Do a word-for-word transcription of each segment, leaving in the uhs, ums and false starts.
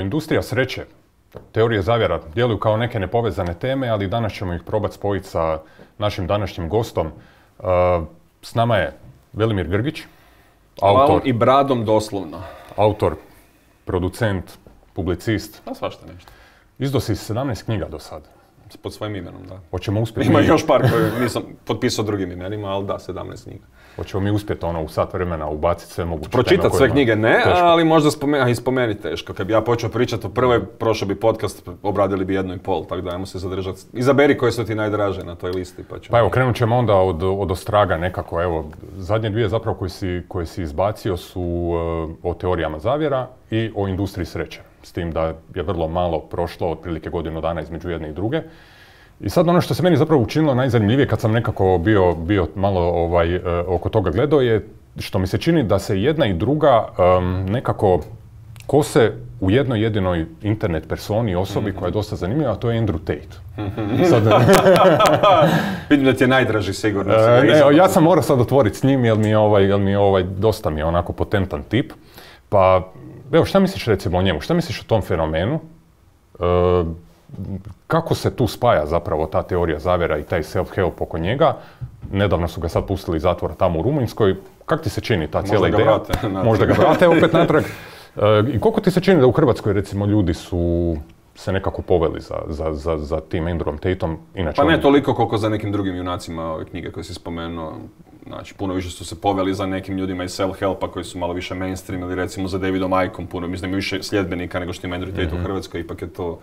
Industrija sreće, teorije zavjera djeluju kao neke nepovezane teme, ali danas ćemo ih probati spojiti sa našim današnjim gostom. S nama je Velimir Grgić, autor i bradom doslovno. Autor, producent, publicist. A svašta nešto. Izdao si sedamnaest knjiga do sad. Pod svojim imenom, da. Hoćemo uspjeti. Ima još par koje nisam potpisao drugim imenima, ali da, sedamnaest knjiga. Hoćemo mi uspjeti ono u sat vremena ubaciti sve moguće. Pročitati sve knjige ne, teško. Ali možda spomen, i spomeni teško. Kad bi ja počeo pričati o prvoj, prošao bi podcast, obradili bi jednu i pol, tako da ajmo se zadržati. Izaberi koje su ti najdraže na toj listi. Pa, ćemo... pa evo, krenut ćemo onda od, od ostraga nekako. Evo, zadnje dvije zapravo koje si, koje si izbacio su uh, o teorijama zavjera i o industriji sreće. S tim da je vrlo malo prošlo, otprilike godinu dana između jedne i druge. I sad ono što se meni zapravo učinilo najzanimljivije kad sam nekako bio, bio malo ovaj, uh, oko toga gledao je što mi se čini da se jedna i druga um, nekako kose u jednoj jedinoj internet personi, osobi mm-hmm. koja je dosta zanimljiva, a to je Andrew Tate. Mm-hmm. Sad, vidim da ti je najdraži sigurno. Uh, ne, ja sam morao sad otvoriti s njim jer mi je ovaj, jer mi je ovaj, dosta mi je onako potentan tip. Pa, evo, šta misliš recimo o njemu? Šta misliš o tom fenomenu? Uh, Kako se tu spaja zapravo ta teorija zavjera i taj self-help oko njega? Nedavno su ga sad pustili iz zatvora tamo u Rumunjskoj. Kako ti se čini ta cijela ideja? Možda ga vrate. Možda ga vrate opet natrag. I koliko ti se čini da u Hrvatskoj recimo ljudi su se nekako poveli za, za, za, za tim Andrewom Tateom? Inače, pa ne on... toliko koliko za nekim drugim junacima ove knjige koje si spomenuo. Znači, puno više su se poveli za nekim ljudima iz self-helpa koji su malo više mainstream ili recimo za Davidom Ickom puno. Mislim, više sljedbenika nego što ima Andrew Tate mm-hmm. u Hrvatskoj. Ipak je to...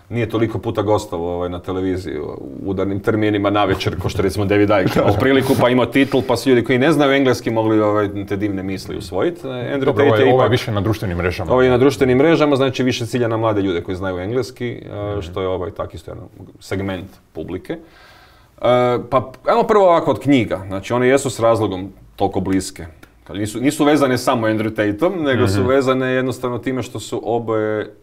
Nije toliko puta gostovao ovaj, na televiziji u udarnim terminima navečer, ko što recimo David Icke. U priliku pa imao titl, pa su ljudi koji ne znaju engleski mogli ovaj, te divne misli usvojiti. Andrew Dobro, Tate ovo je, ipak, ovo je više na društvenim mrežama. Ovo je na društvenim mrežama, znači više cilja na mlade ljude koji znaju engleski, mm-hmm. što je ovaj, tak isto jedan segment publike. Uh, pa ajmo prvo ovako od knjiga, znači one jesu s razlogom toliko bliske. Nisu, nisu vezane samo Andrew Tateom, nego mm-hmm. su vezane jednostavno time što su oboje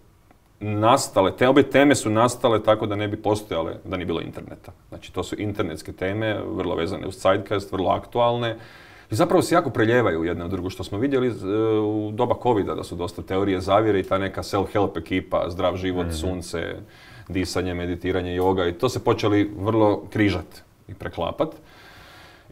nastale, te obje teme su nastale tako da ne bi postojale da nije bilo interneta. Znači to su internetske teme, vrlo vezane uz zeitgeist, vrlo aktualne i zapravo se jako preljevaju jedno od drugo, što smo vidjeli u doba covida, da su dosta teorije zavjere i ta neka self-help ekipa, zdrav život, mm-hmm. sunce, disanje, meditiranje, joga i to se počeli vrlo križati i preklapati.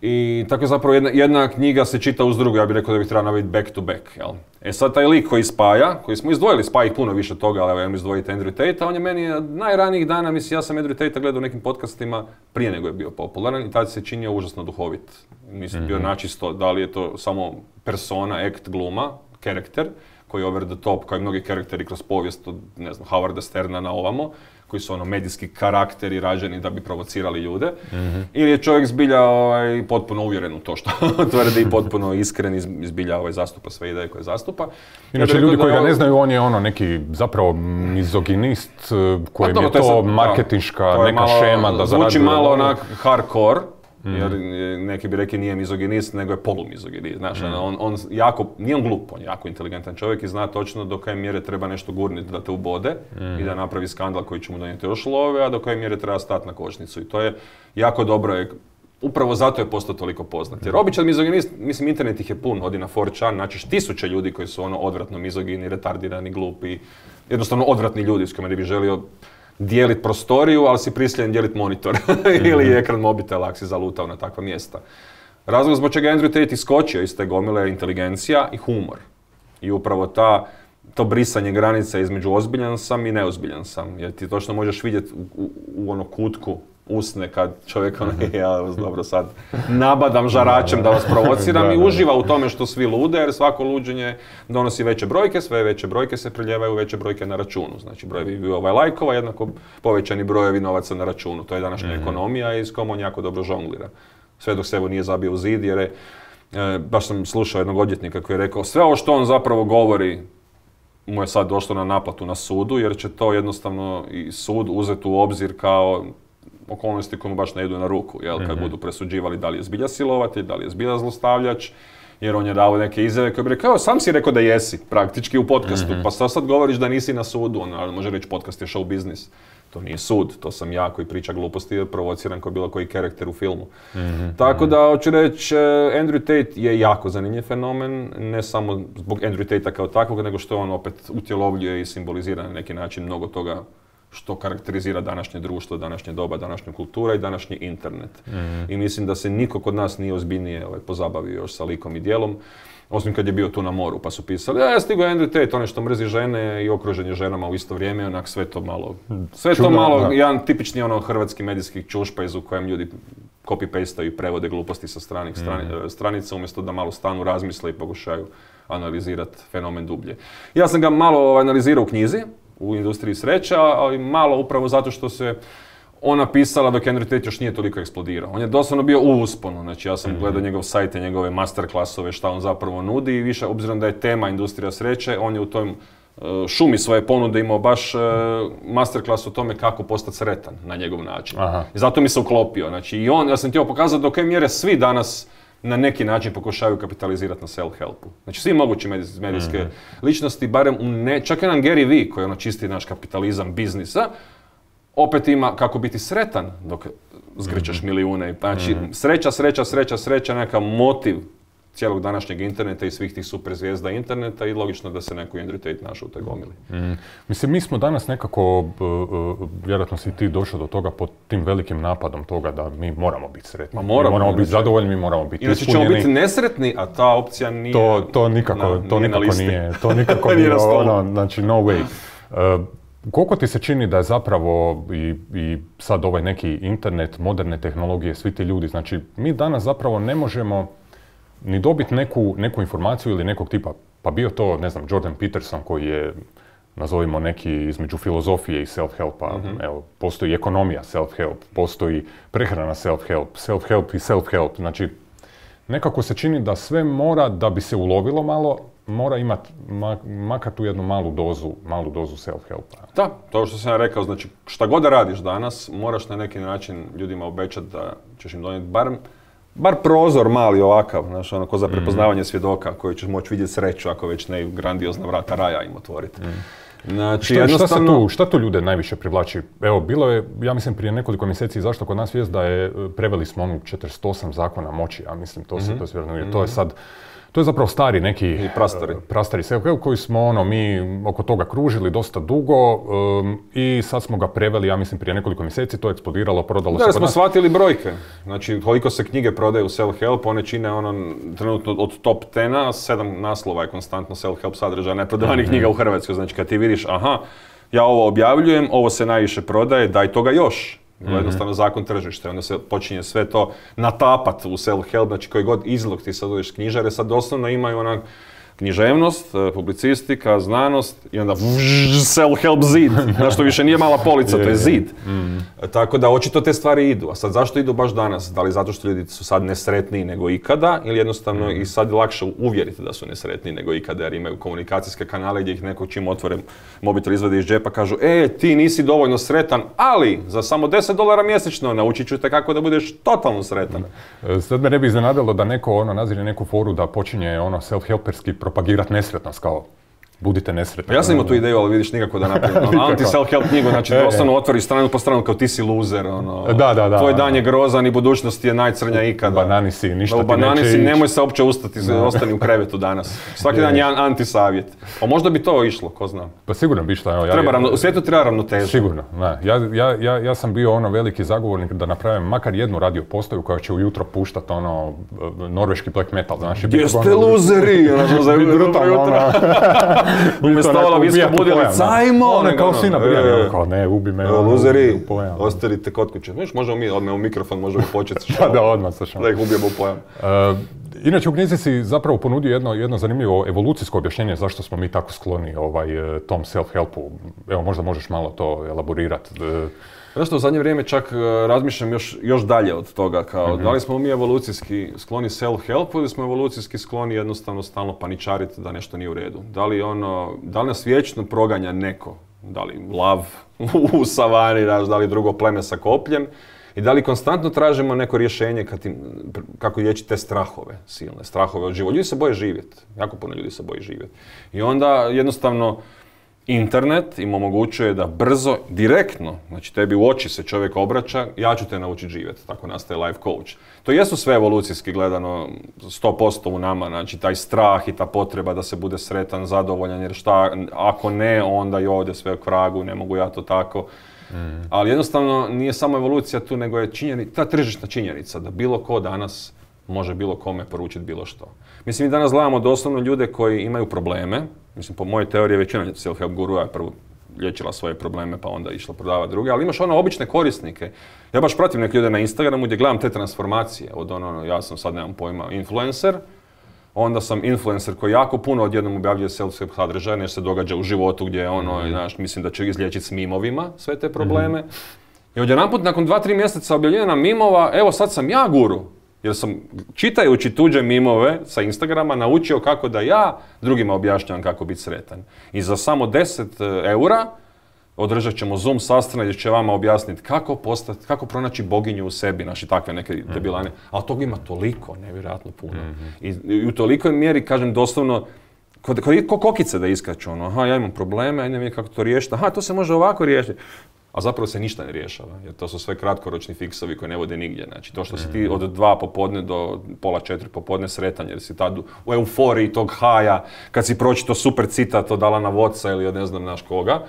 I tako je zapravo jedna, jedna knjiga se čita uz drugu, ja bih rekao da bih trebao naviti back to back, jel? E sad taj lik koji spaja, koji smo izdvojili, spaja ih puno više toga, ali evo ja mi izdvojiti Andrew Tate, on je meni od najranijih dana, mislim, ja sam Andrew Tate gledao u nekim podcastima prije nego je bio popularan i tad se činio užasno duhovit. Nisam mm-hmm. bio načisto da li je to samo persona, act, gluma, karakter, koji je over the top, kao i mnogi karakteri kroz povijest od, ne znam, Howarda Sterna na ovamo, koji su ono medijski karakteri rađeni da bi provocirali ljude. Mm-hmm. Ili je čovjek zbilja ovaj, potpuno uvjeren u to što tvrdi i potpuno iskren i zbilja ovaj, zastupa sve ideje koje zastupa. Inače, ja ljudi koji ga ne znaju, on je ono neki zapravo mizoginist kojem pa, je to, to marketinška da, to neka malo, šema da zarađuje. Zvuči malo onak hardcore. Jer neki bi rekli nije mizoginist, nego je polumizoginist. Znaš, mm. on, on jako, nije on glup, on je jako inteligentan čovjek i zna točno do koje mjere treba nešto gurniti da te ubode mm. i da napravi skandal koji će mu donijeti još love, a do koje mjere treba stati na kočnicu. I to je jako dobro, upravo zato je postao toliko poznat. Jer običan mizoginist, mislim, internet ih je pun, odi na four chan, naćiš tisuće ljudi koji su ono odvratno mizogini, retardirani, glupi, jednostavno odvratni ljudi s kojima ne bi želio dijeliti prostoriju, ali si prisiljen dijeliti monitor ili mm-hmm. ekran mobitela ako si zalutao na takva mjesta. Razlog zbog čega Andrew Tate iskočio iz te gomile je inteligencija i humor. I upravo ta, to brisanje granice između ozbiljan sam i neozbiljan sam. Jer ti točno možeš vidjeti u, u, u ono kutku usne kad čovjek ono, ja dobro sad nabadam žaračem da vas provociram i uživa u tome što svi lude, jer svako luđenje donosi veće brojke, sve veće brojke se priljevaju veće brojke na računu. Znači brojevi ovaj lajkova jednako povećani brojevi novaca na računu. To je današnja mm-hmm. ekonomija i s kom on jako dobro žonglira. Sve dok se evo nije zabio u zid jer je, e, baš sam slušao jednog odvjetnika koji je rekao sve ovo što on zapravo govori mu je sad došlo na naplatu na sudu jer će to jednostavno i sud uzeti u obzir kao okolnosti koje mu baš ne idu na ruku, jel, kad mm-hmm. budu presuđivali da li je zbilja silovatelj, da li je zbilja zlostavljač jer on je dao neke izjave koje bi rekao, kao sam si rekao da jesi, praktički u podcastu, mm-hmm. pa sad, sad govoriš da nisi na sudu, on može reći podcast je show biznis. To nije sud, to sam ja koji priča gluposti, provociran kao bilo koji karakter u filmu. Mm-hmm. Tako da, hoću reći, Andrew Tate je jako zanimljiv fenomen, ne samo zbog Andrew Tate-a kao takvog, nego što on opet utjelovljuje i simbolizira na neki način mnogo toga što karakterizira današnje društvo, današnje doba, današnja kultura i današnji internet. Mm-hmm. I mislim da se niko kod nas nije ozbiljnije ovaj, pozabavio još sa likom i djelom. Osim kad je bio tu na moru, pa su pisali, ja stigo je Andrew Tate, onaj što mrzi žene i okruženje ženama u isto vrijeme, onak sve to malo, sve to Čudno, malo, da. jedan tipični ono hrvatski medijski čušpajz u kojem ljudi copy-pastaju i prevode gluposti sa stranih strani, mm. stranica, umjesto da malo stanu, razmisle i pokušaju analizirati fenomen dublje. Ja sam ga malo analizirao u knjizi, u Industriji sreća, ali malo upravo zato što se on napisala dok Andrew Tate još nije toliko eksplodirao. On je doslovno bio u usponu, znači ja sam mm-hmm. gledao njegov sajt i njegove masterclassove, šta on zapravo nudi i više, obzirom da je tema industrija sreće, on je u tom uh, šumi svoje ponude imao baš uh, masterclass o tome kako postati sretan na njegov način. Aha. I zato mi se uklopio. Znači i on, ja sam htio pokazati do koje mjere svi danas na neki način pokušavaju kapitalizirati na self-helpu. Znači svi mogući medijske mm-hmm. ličnosti, barem u ne, čak jedan Gary Vee koji je ono čisti naš kapitalizam biznisa, opet ima kako biti sretan dok zgrčeš mm-hmm. milijune. Znači, mm-hmm. sreća, sreća, sreća, sreća, neka motiv cijelog današnjeg interneta i svih tih super zvijezda interneta i logično da se neko Andrew Tate našao u toj gomili. Mm. Mislim, mi smo danas nekako, uh, uh, vjerojatno si ti došao do toga pod tim velikim napadom toga da mi moramo biti sretni. Ma moramo, mi moramo biti zadovoljni, mi moramo biti inače ispunjeni. Inače ćemo biti nesretni, a ta opcija nije To, to nikako, na, to nije nikako nije, to nikako nije, ono, znači no way. Uh, Koliko ti se čini da je zapravo i, i sad ovaj neki internet, moderne tehnologije, svi ti ljudi, znači mi danas zapravo ne možemo ni dobiti neku, neku informaciju ili nekog tipa, pa bio to, ne znam, Jordan Peterson koji je, nazovimo neki između filozofije i self-helpa, mm-hmm. evo, postoji ekonomija self-help, postoji prehrana self-help, self-help i self-help, znači nekako se čini da sve mora, da bi se ulovilo malo, mora imati ma, makar tu jednu malu dozu, malu dozu self-helpa. Da, to što sam ja rekao, znači šta god da radiš danas, moraš na neki način ljudima obećati da ćeš im donijeti bar, bar prozor mali ovakav, znaš, ono ko za prepoznavanje mm. svjedoka koji ćeš moći vidjeti sreću ako već ne grandiozna vrata raja im otvoriti. Mm. Znači, šta, jednostavno... šta, tu, šta tu ljude najviše privlači? Evo, bilo je, ja mislim, prije nekoliko mjeseci zašto kod nas vijest da je, preveli smo onu četrdeset osam zakona moći, ja mislim, to se, mm-hmm. to se vjerno mm-hmm. to je sad, to je zapravo stari neki I prastari, prastari self-help koji smo ono, mi oko toga kružili dosta dugo um, i sad smo ga preveli, ja mislim, prije nekoliko mjeseci, to je eksplodiralo, prodalo da, se kod smo nas. Shvatili brojke. Znači, koliko se knjige prodaju self-help, one čine ono, trenutno od top deseta, sedam naslova je konstantno self-help sadržaja neprodanih mm-hmm. knjiga u Hrvatskoj. Znači, kad ti vidiš, aha, ja ovo objavljujem, ovo se najviše prodaje, daj toga još. Mm-hmm. Jednostavno zakon tržišta, onda se počinje sve to natapat u self-help, znači koji god izlog ti sad odeš knjižare, sad doslovno imaju onak književnost, publicistika, znanost i onda self-help zid, na što više nije mala polica, to je zid. Mm. Tako da očito te stvari idu. A sad zašto idu baš danas? Da li zato što ljudi su sad nesretniji nego ikada ili jednostavno mm. i sad je lakše uvjeriti da su nesretniji nego ikada jer imaju komunikacijske kanale gdje ih neko čim otvore mobitel izvade iz džepa kažu e, ti nisi dovoljno sretan, ali za samo deset dolara mjesečno naučit ću te kako da budeš totalno sretan. Mm. Sad me ne bi iznenadilo da neko ono nazire neku foru da počinje ono self-helperski propagirati nesretnost kao budite nesretni. Ja sam imao tu ideju, ali vidiš nikako da napravim ono, anti-self-help knjigu, znači doslovno otvori stranu po stranu kao ti si loser, ono, da, da, da, tvoj dan je grozan i budućnost je najcrnja ikada. Banani si, ništa ti neće ići. Banani si, nemoj se uopće ustati, ostani u krevetu danas. Svaki dan je jedan anti-savjet. A možda bi to išlo, ko zna. Pa sigurno bi išlo. Ja, treba ravno, u svijetu treba ravnoteža. Sigurno, ne. Ja, ja, ja, ja sam bio ono veliki zagovornik da napravim makar jednu radio postaju koja će ujutro puštati ono norveški black metal. Znaš, gdje ste luzeri? Umjesto ova viska budilica, ajmo! One kao sina brijani, kao ne, ubi me. Luzeri, ostavite kod kuće. Viš, možemo mi odmah u mikrofon, možemo početi da, da, odmah slušamo. Da ih ubijemo u pojam. Uh, inače, u knjizi si zapravo ponudio jedno, jedno zanimljivo evolucijsko objašnjenje zašto smo mi tako skloni ovaj, tom self-helpu. Evo, možda možeš malo to elaborirati. Zašto u zadnje vrijeme čak razmišljam još, još dalje od toga, kao mm-hmm. da li smo mi evolucijski skloni self-helpu ili smo evolucijski skloni jednostavno stalno paničariti da nešto nije u redu. Da li, ono, da li nas vječno proganja neko, da li lav u savani, da li drugo pleme sa kopljem, I da li konstantno tražimo neko rješenje kad im, kako liječiti te strahove silne, strahove od života. Ljudi se boje živjeti, jako puno ljudi se boje živjeti. I onda jednostavno internet im omogućuje da brzo, direktno, znači tebi u oči se čovjek obraća, ja ću te naučiti živjeti, tako nastaje life coach. To jesu sve evolucijski gledano sto posto u nama, znači taj strah i ta potreba da se bude sretan, zadovoljan, jer šta, ako ne, onda i ovdje sve k vragu, ne mogu ja to tako. Mm. Ali jednostavno nije samo evolucija tu, nego je činjenica, ta tržišna činjenica da bilo ko danas može bilo kome poručiti bilo što. Mislim, mi danas gledamo doslovno ljude koji imaju probleme. Mislim, po mojoj teoriji većina self-help gurua je prvo liječila svoje probleme pa onda išla prodavati druge, ali imaš ono obične korisnike. Ja baš pratim neke ljude na Instagramu gdje gledam te transformacije. Od ono, ja sam sad, nemam pojma, influencer, onda sam influencer koji jako puno odjednom objavljuje self-help sadržaja, nešto se događa u životu gdje ono, mm. znaš, mislim da će izliječiti s mimovima sve te probleme. Mm. I odjedanput nakon dva, tri mjeseca objavljena mimova, evo sad sam ja guru. Jer sam, čitajući tuđe mimove sa Instagrama, naučio kako da ja drugima objašnjavam kako biti sretan. I za samo deset eura održat ćemo Zoom sastanak gdje će vama objasniti kako postati, kako pronaći boginju u sebi, naši takve neke debilane. Ali toga ima toliko, nevjerojatno puno. Mm-hmm. I, I u tolikoj mjeri, kažem doslovno, kod, kod, kod kokice da iskaču, ono, aha, ja imam probleme, ajde mi kako to riješiti, aha, to se može ovako riješiti. A zapravo se ništa ne rješava, jer to su sve kratkoročni fiksovi koji ne vode nigdje. Znači, to što si ti od dva popodne do pola četiri popodne sretan, jer si tad u euforiji tog haja, kad si pročito super citat od Alana Wattsa ili od ne znam naš koga,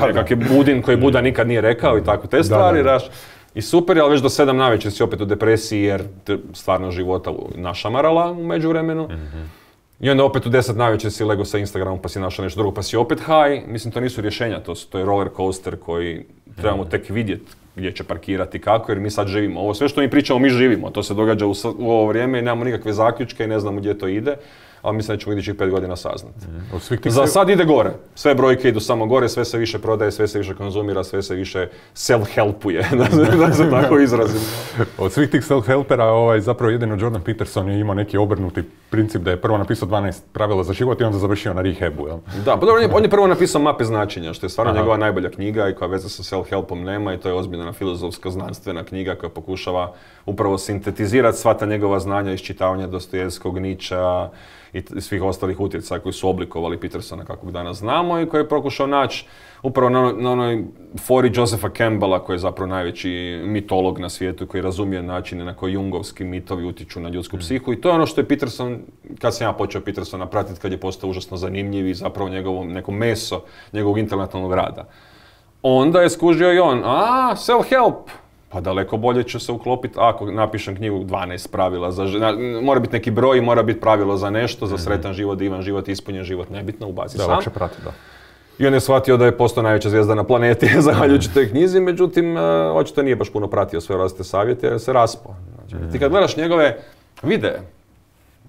nekak je Budin koji Buda nikad nije rekao i tako te stvari, da, da, da. I super, ali već do sedam navečer si opet u depresiji jer te stvarno života našamarala u međuvremenu. Mm-hmm. I onda opet u deset navečer si lego sa Instagramom pa si našao nešto drugo pa si opet high. Mislim, to nisu rješenja, to, to je roller coaster koji trebamo tek vidjeti gdje će parkirati kako, jer mi sad živimo. Ovo sve što mi pričamo, mi živimo. To se događa u, u ovo vrijeme i nemamo nikakve zaključke i ne znamo gdje to ide. Ali mislim da ćemo idućih pet godina saznati. Mm. Za sad ide gore. Sve brojke idu samo gore, sve se više prodaje, sve se više konzumira, sve se više self-helpuje, da se tako izrazim. Od svih tih self-helpera ovaj, zapravo jedino Jordan Peterson je imao neki obrnuti princip da je prvo napisao dvanaest pravila za život i onda završio na rehabu. Jel? Da, pa dobro, on je prvo napisao Mape značenja, što je stvarno Aha. njegova najbolja knjiga i koja veze sa self-helpom nema i to je ozbiljna filozofska znanstvena knjiga koja pokušava upravo sintetizirati sva ta njegova znanja iz čitavanja Dostojevskog, Nietzschea i svih ostalih utjecaja koji su oblikovali Petersona kakvog danas znamo i koji je pokušao naći upravo na, na onoj fori Josepha Campbella koji je zapravo najveći mitolog na svijetu koji razumije načine na koji jungovski mitovi utječu na ljudsku psihu i to je ono što je Peterson, kad sam ja počeo Petersona pratiti, kad je postao užasno zanimljiv i zapravo njegovo neko meso njegovog intelektualnog rada. Onda je skužio i on, a self-help. Pa daleko bolje će se uklopiti ako napišem knjigu dvanaest pravila za život. Mora biti neki broj, mora biti pravilo za nešto, za sretan život, divan život, ispunjen život, nebitno, ubaci sam. Da, lakše prati, da. I on je shvatio da je postao najveća zvijezda na planeti zahvaljujući toj knjizi, međutim, očito nije baš puno pratio sve različite savjete jer se raspao. Znači, ti kad gledaš njegove videe,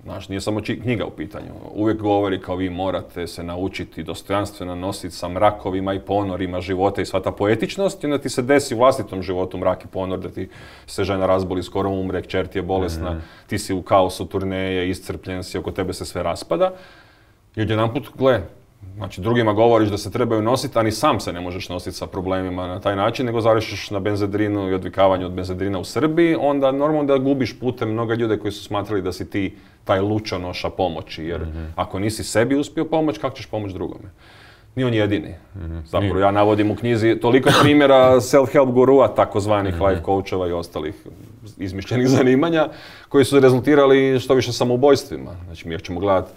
znaš, nije samo knjiga u pitanju. Uvijek govori kao vi morate se naučiti dostojanstveno nositi sa mrakovima i ponorima života i sva ta poetičnost i onda ti se desi u vlastitom životu mrak i ponor, da ti se žena razboli, skoro umre, kćer ti je bolesna, mm-hmm. ti si u kaosu turneje, iscrpljen si, oko tebe se sve raspada. I odjedanput, gle, znači drugima govoriš da se trebaju nositi, a ni sam se ne možeš nositi sa problemima na taj način, nego završiš na benzedrinu i odvikavanju od benzedrina u Srbiji, onda normalno da gubiš putem mnoga ljude koji su smatrali da si ti taj lučonoša pomoći, jer mm-hmm. ako nisi sebi uspio pomoći, kako ćeš pomoći drugome? Nije on jedini. Mm-hmm. Zapravo ja navodim u knjizi toliko primjera self-help gurua, takozvanih mm-hmm. life coacheva i ostalih izmišljenih zanimanja, koji su rezultirali što više samoubojstvima. Znači mi ćemo gledati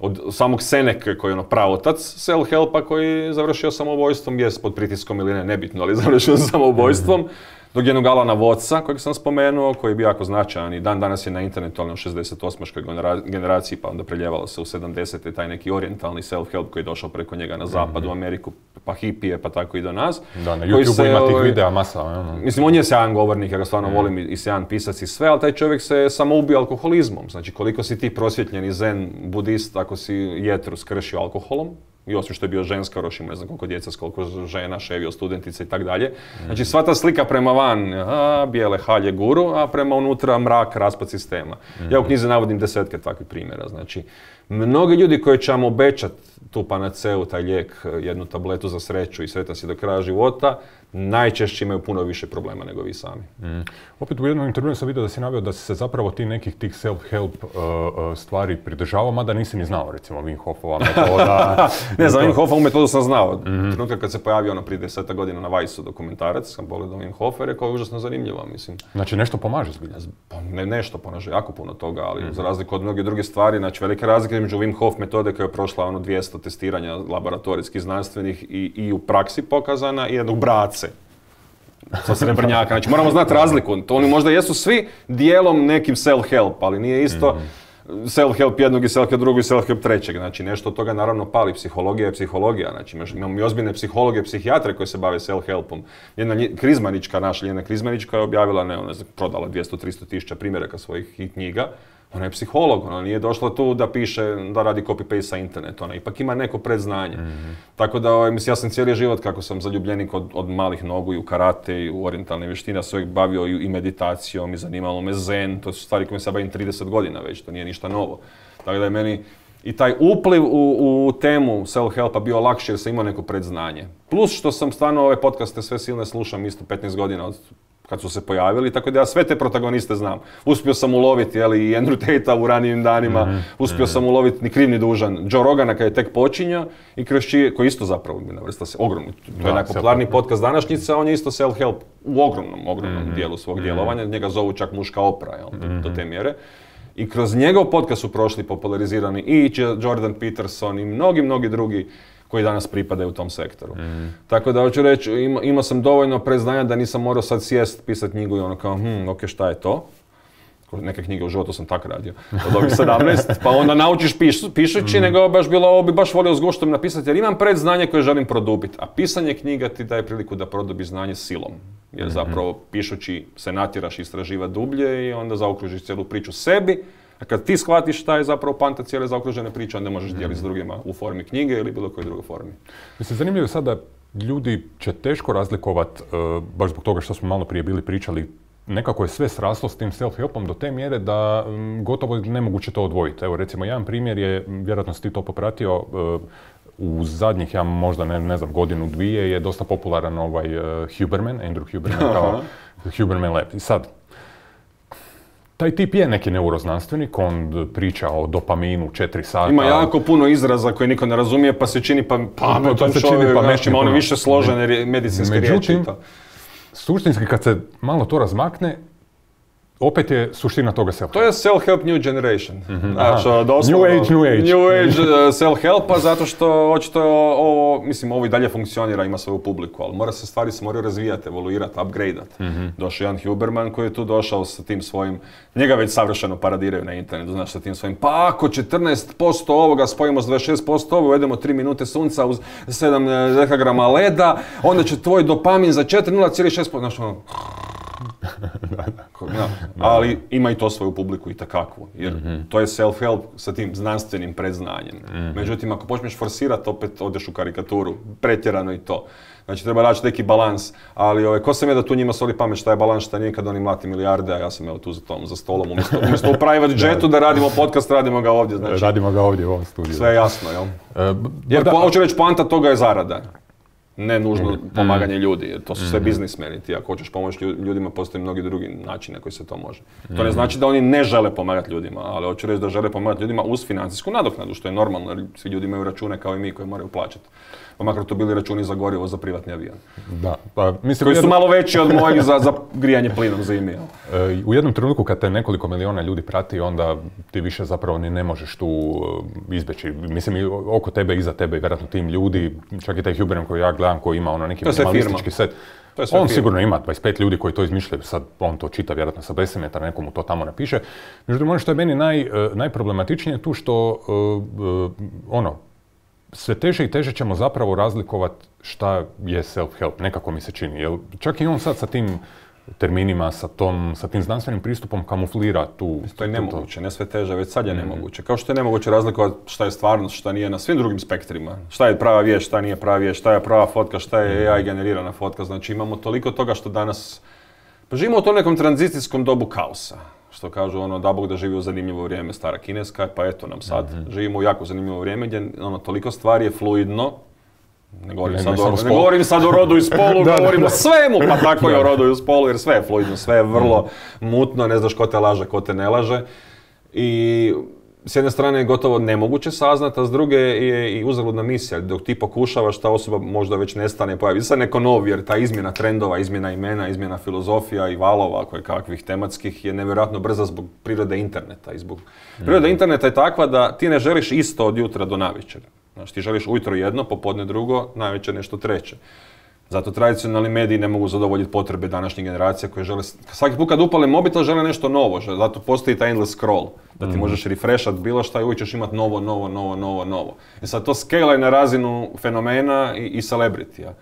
od samog Seneke koji je ono pravotac self-helpa koji je završio samoubojstvom, jest pod pritiskom ili ne, nebitno, ali završio samoubojstvom. Mm-hmm. Dok jednog Alana Wattsa, kojeg sam spomenuo, koji je bio jako značajan i dan danas je na internetu, ali u šezdeset osmaškoj generaciji, pa onda preljevalo se u sedamdesete taj neki orijentalni self-help koji je došao preko njega na zapad, mm-hmm. u Ameriku, pa hipije, pa tako i do nas. Da, na YouTubeu ima tih videa masa. Ono. Mislim, on je sjajan govornik, ja ga stvarno mm. volim i sjajan pisac i sve, ali taj čovjek se samo ubio alkoholizmom. Znači, koliko si ti prosvjetljeni zen budist ako si jetru skršio alkoholom, i osim što je bio ženska, još ima ne znam koliko djeca, koliko žena, ševio, studentica i tak dalje. Znači sva ta slika prema van, a, bijele halje guru, a prema unutra mrak, raspad sistema. Mm-hmm. Ja u knjizi navodim desetke takvih primjera. Znači, mnogi ljudi koji će vam obećati tu panaceu, taj lijek, jednu tabletu za sreću i sretan si do kraja života, najčešće imaju puno više problema nego vi sami. Mm. Opet u jednom intervju sam vidio da si naveo da si se zapravo ti nekih tih self-help uh, uh, stvari pridržavao, mada nisi ni znao, recimo Wim Hofova metoda. Ne, za Wim Hofovu metodu sam znao. Mm-hmm. Trenutka kad se pojavio ono prije deseta godina na Vajsu dokumentarac, sam pogledao Wim Hof i rekao je užasno zanimljivo, mislim. Znači nešto pomaže zbilja? Pa ne, nešto pomaže, jako puno toga, ali mm-hmm. za razliku od mnoge druge stvari, znači velike razlike između Wim Hof metode koja je prošla ono dvjesto testiranja laboratorijskih, znanstvenih i, i u praksi pokazana i jednog brace. Sa srebrnjaka, znači moramo znati razliku, to oni možda jesu svi dijelom nekim self-help, ali nije isto mm-hmm. self-help jednog i self-help drugog i self-help trećeg, znači nešto od toga naravno pali, psihologija je psihologija, znači imamo i ozbiljne psihologe, psihijatre koji se bave self-helpom. Jedna Krizmanička, naša Ljena Krizmanička je objavila, ne, ona je prodala dvjesto do tristo tisuća primjeraka svojih knjiga. Ona je psiholog, ona nije došla tu da piše, da radi copy-paste sa interneta, ona ipak ima neko predznanje. Mm-hmm. Tako da, mislim, ja sam cijeli život, kako sam zaljubljenik od, od malih nogu i u karate i u orijentalne vještine, se uvijek bavio i, i meditacijom i zanimalo me zen, to su stvari koje se bavim trideset godina već, to nije ništa novo. Tako da je meni i taj upliv u, u temu self-helpa bio lakši jer sam imao neko predznanje. Plus što sam stvarno ove podcaste sve silne slušam isto petnaest godina od kad su se pojavili, tako da ja sve te protagoniste znam. Uspio sam uloviti, jeli, i Andrew Tate-a u ranijim danima, mm-hmm. uspio sam uloviti ni kriv ni dužan Joe Rogana kad je tek počinjao i kroz čije, koji isto zapravo navrsta se ogromno, to je da, najpopularniji podcast današnjice, on je isto self-help u ogromnom, ogromnom mm-hmm. dijelu svog mm-hmm. djelovanja, njega zovu čak muška Oprah, jel, do, mm-hmm. do te mjere. I kroz njegov podcast su prošli popularizirani i Jordan Peterson i mnogi, mnogi drugi koji danas pripadaju u tom sektoru. Mm. Tako da hoću reći, ima, imao sam dovoljno predznanja da nisam morao sad sjest, pisati knjigu i ono kao, hm, ok, šta je to? Neke knjige u životu sam tak radio, od ovih sedamnaest, pa onda naučiš piš, pišući, mm. nego baš bilo, ovo bi baš volio s guštom napisati, jer imam predznanje koje želim produbiti, a pisanje knjiga ti daje priliku da produbiš znanje silom. Jer zapravo pišući se natjeraš istraživati dublje i onda zaokružiš cijelu priču sebi. A kad ti shvatiš šta je zapravo poanta cijele zaokružene priče, onda možeš dijeliti s drugima u formi knjige ili bilo kojoj drugoj formi. Mislim, zanimljivo je sada, ljudi će teško razlikovati, uh, baš zbog toga što smo malo prije bili pričali, nekako je sve sraslo s tim self-helpom do te mjere da um, gotovo nemoguće to odvojiti. Evo recimo, jedan primjer je, vjerojatno si ti to popratio, uh, u zadnjih, ja možda ne, ne znam, godinu, dvije je dosta popularan ovaj uh, Huberman, Andrew Huberman kao Huberman Lab. I sad, taj tip je neki neuroznanstvenik, on priča o dopaminu četiri sata. Ima jako puno izraza koje niko ne razumije, pa se čini pa pametan pa, pa čovjek, znači ima ono više složene medicinske riječi. Međutim, suštinski kad se malo to razmakne, opet je suština toga self-helpa. To je self-help new generation. Mm-hmm. Znači, new age, new age. New age self-helpa, zato što očito ovo, mislim, ovo i dalje funkcionira, ima svoju publiku, ali mora se stvari se moraju razvijati, evoluirati, upgradeati. Mm-hmm. Došao jedan Huberman koji je tu došao sa tim svojim, njega već savršeno paradiraju na internetu, znaš, sa tim svojim, pa ako četrnaest posto ovoga spojimo s dvadeset šest posto ovo, uvedemo tri minute sunca uz sedam dekagrama leda, onda će tvoj dopamin za četiri nula šest posto, znaš, ono, ja, ali ima i to svoju publiku i takakvu, jer mm-hmm. to je self-help sa tim znanstvenim predznanjem. Mm-hmm. Međutim, ako počneš forsirati, opet odeš u karikaturu, pretjerano i to. Znači, treba naći neki balans, ali ove, ko sam je da tu njima soli pamet šta je balans, šta nije kad oni mlati milijarde, a ja sam evo tu za, tom, za stolom, umjesto, umjesto u private jetu da radimo podcast, radimo ga ovdje. Znači, radimo ga ovdje u ovom studiju. Sve je jasno, jel? Uh, jer, po, hoću reći, poanta toga je zarada. Ne nužno mm. pomaganje ljudi, jer to su sve mm. biznismeni. Ti ako hoćeš pomoći ljudima, postoje mnogi drugi načine koji se to može. Mm. To ne znači da oni ne žele pomagati ljudima, ali hoću reći da žele pomagati ljudima uz financijsku nadoknadu, što je normalno, jer svi ljudi imaju račune kao i mi koji moraju plaćati. Pa makar to bili računi za gorivo za privatni avion. Da, pa, mislim, koji su malo veći od mojih za, za grijanje plinom zimi. E, u jednom trenutku kad te nekoliko miliona ljudi prati, onda ti više zapravo ni ne možeš tu izbjeći. Mislim, oko tebe, iza tebe i vjerojatno tim ljudi, čak i taj Huberman koji ja gledam koji ima ono neki minimalistički set. On firma. Sigurno ima dvadeset pet ljudi koji to izmišljaju, sad on to čita vjerojatno sa besimetara, nekomu to tamo napiše. Međutim, ono što je meni naj, najproblematičnije tu što uh, uh, ono, sve teže i teže ćemo zapravo razlikovati šta je self-help, nekako mi se čini. Jel, čak i on sad sa tim terminima, sa, tom, sa tim znanstvenim pristupom kamuflira tu... To je nemoguće, ne sve teže, već sad je mm-hmm. nemoguće. Kao što je nemoguće razlikovati šta je stvarnost, šta nije na svim drugim spektrima. Šta je prava vijest, šta nije prava vijest, šta je prava fotka, šta je A I generirana fotka. Znači imamo toliko toga što danas... Pa živimo u tom nekom tranzicijskom dobu kaosa. Što kažu ono, da Bog da živi u zanimljivo vrijeme, stara kineska, pa eto nam sad. Mm-hmm. Živimo u jako zanimljivo vrijeme gdje ono, toliko stvari je fluidno, Ne govorim, Ne, sad, ne o, samo ne spol. govorim sad o rodu i spolu, Da, da, govorim da. o svemu, pa tako i o rodu i spolu, jer sve je fluidno, sve je vrlo mutno, ne znaš ko te laže, ko te ne laže. I s jedne strane je gotovo nemoguće saznat, a s druge je i uzaludna misija. Dok ti pokušavaš, ta osoba možda već nestane, pojavi se neko nov, jer ta izmjena trendova, izmjena imena, izmjena filozofija i valova koje kakvih tematskih je nevjerojatno brza zbog prirode interneta. I zbog... Priroda interneta je takva da ti ne želiš isto od jutra do navečer. Znači, ti želiš ujutro jedno, popodne drugo, navečer nešto treće. Zato tradicionalni mediji ne mogu zadovoljiti potrebe današnjih generacija koje žele... Svaki put kad upale mobitel žele nešto novo, zato postoji taj endless scroll. Da ti možeš refreshat bilo šta i uvijek ćeš imati novo, novo, novo, novo, novo. I sad to scale na razinu fenomena i, i celebritija.